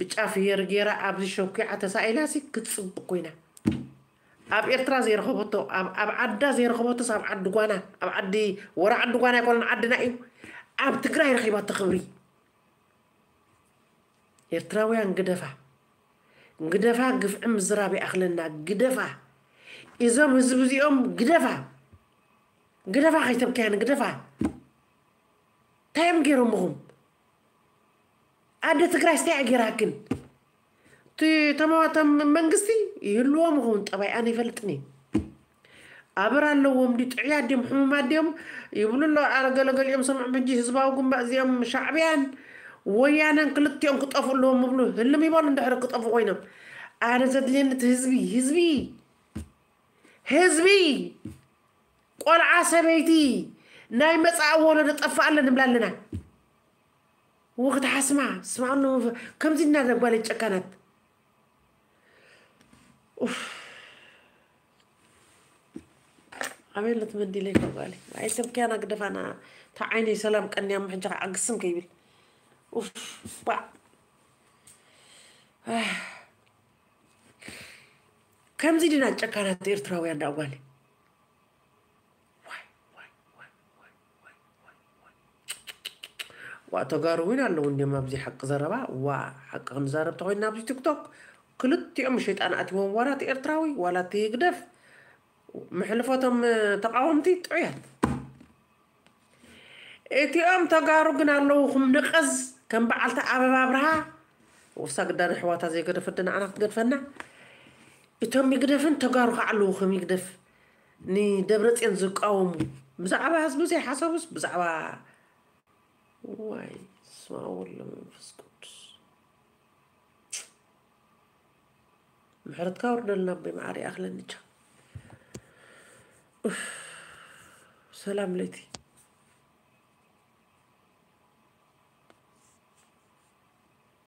ብጫ ፍየር ገይራ ኣብዚ ሸኲዓ ተሳኢላሲ ክትጽብቕ ኮይና ኣብ ኤርትራ ዘይረኸበቶ ኣብ ዓዳ ዘይረኸበቶስ ኣብ ዓዲ ጓና ኣብ ዓዲ ወረ ዓዲ ጓና ኣይኮነን ዓድና እዩ ኣብ ትግራይ ረኺባቶ ክብሪ ኤርትራውያን ግደፋ ግደፋ ግፍዒ ምዝራብ ይኣኽለና ግደፋ እዞም ህዝቢ እዚኦም ግደፋ ግደፋ ከይተብክያን ግደፋ እንታይ እዮም ገይሮምኹም ኣደ ትግራይ ስታይ ኣገይራክን እቲ ተማዋቶም መንግስቲ ይህልዎም ይኸውን ጠባይ ኣነ ይፈልጥን እዩ ኣበር ኣለዎም ድዩ ጥዕያት ድዮም ሕሙማት ድዮም ይብሉ ኣሎ ኣረ ገለገሊኦም ሰምዖም ሕጂ ህዝባዊ ግንባር እዚኦም ሻዕብያን ወያነን ክልቲኦም ክጠፍኡ ኣለዎም ይብሉ ህልም ይበሉ እንድሕር ክጠፍኡ ኮይኖም ኣነ ዘድልየኒ እቲ ህዝቢ ህዝቢ ህዝቢ ቆልዓ ሰበይቲ ናይ መፃኢ ወለዶ ጠፍእ ኣለ ንብላ ኣለና ወክትሓስማ ስማዕኑ ከምዚ እናደጓለ ጨካናት ኣበይ ኣሎ ትመዲለይ ከጓሊ ኣይተብክያና ግደፋና እታ ዓይነይ ሰላም ቀንያ እሞ ሕጂ ከዓ ግስም ከይብል ኡፍ ባዕ ከምዚ ድና ጨካናት ኤርትራውያን ዳ ጓሊ ዋ ተጋሩ እውን ኣለዉ እንዲም ኣብዚ ሓቂ ዘረባ ዋ ሓቂ ክንዛረብ ተኮይና ኣብዚ ቲክቶክ ክልቲኦም ሸይጣን ኣትዎም ዋላ እቲ ኤርትራዊ ዋላ እቲ ህግደፍ ምሕልፎቶም ተቃወምቲ ጥዑያት። እቲኦም ተጋሩ ግን ኣለውኹም ንቀዝ ከም በዓልቲ ኣበባ ኣብርሃ። ውሳ ግዳን ኣሕዋታ ዘይገደፈት ንዓና ክትገድፈና። እቶም ይግደፍን ተጋሩ ከዓ ኣለውኹም ይግደፍ። ንደብረፅዮን ዝቃወሙ ብዛዕባ ህዝቢ ዘይሓሰቡስ ብዛዕባ ዋይ ስማ ወሎ መንፈስ ቅዱስ ምሕረትካ ወርደልና ኣቦይ መዓሪ ኣኽለንቻ። ሰላም ለይቲ።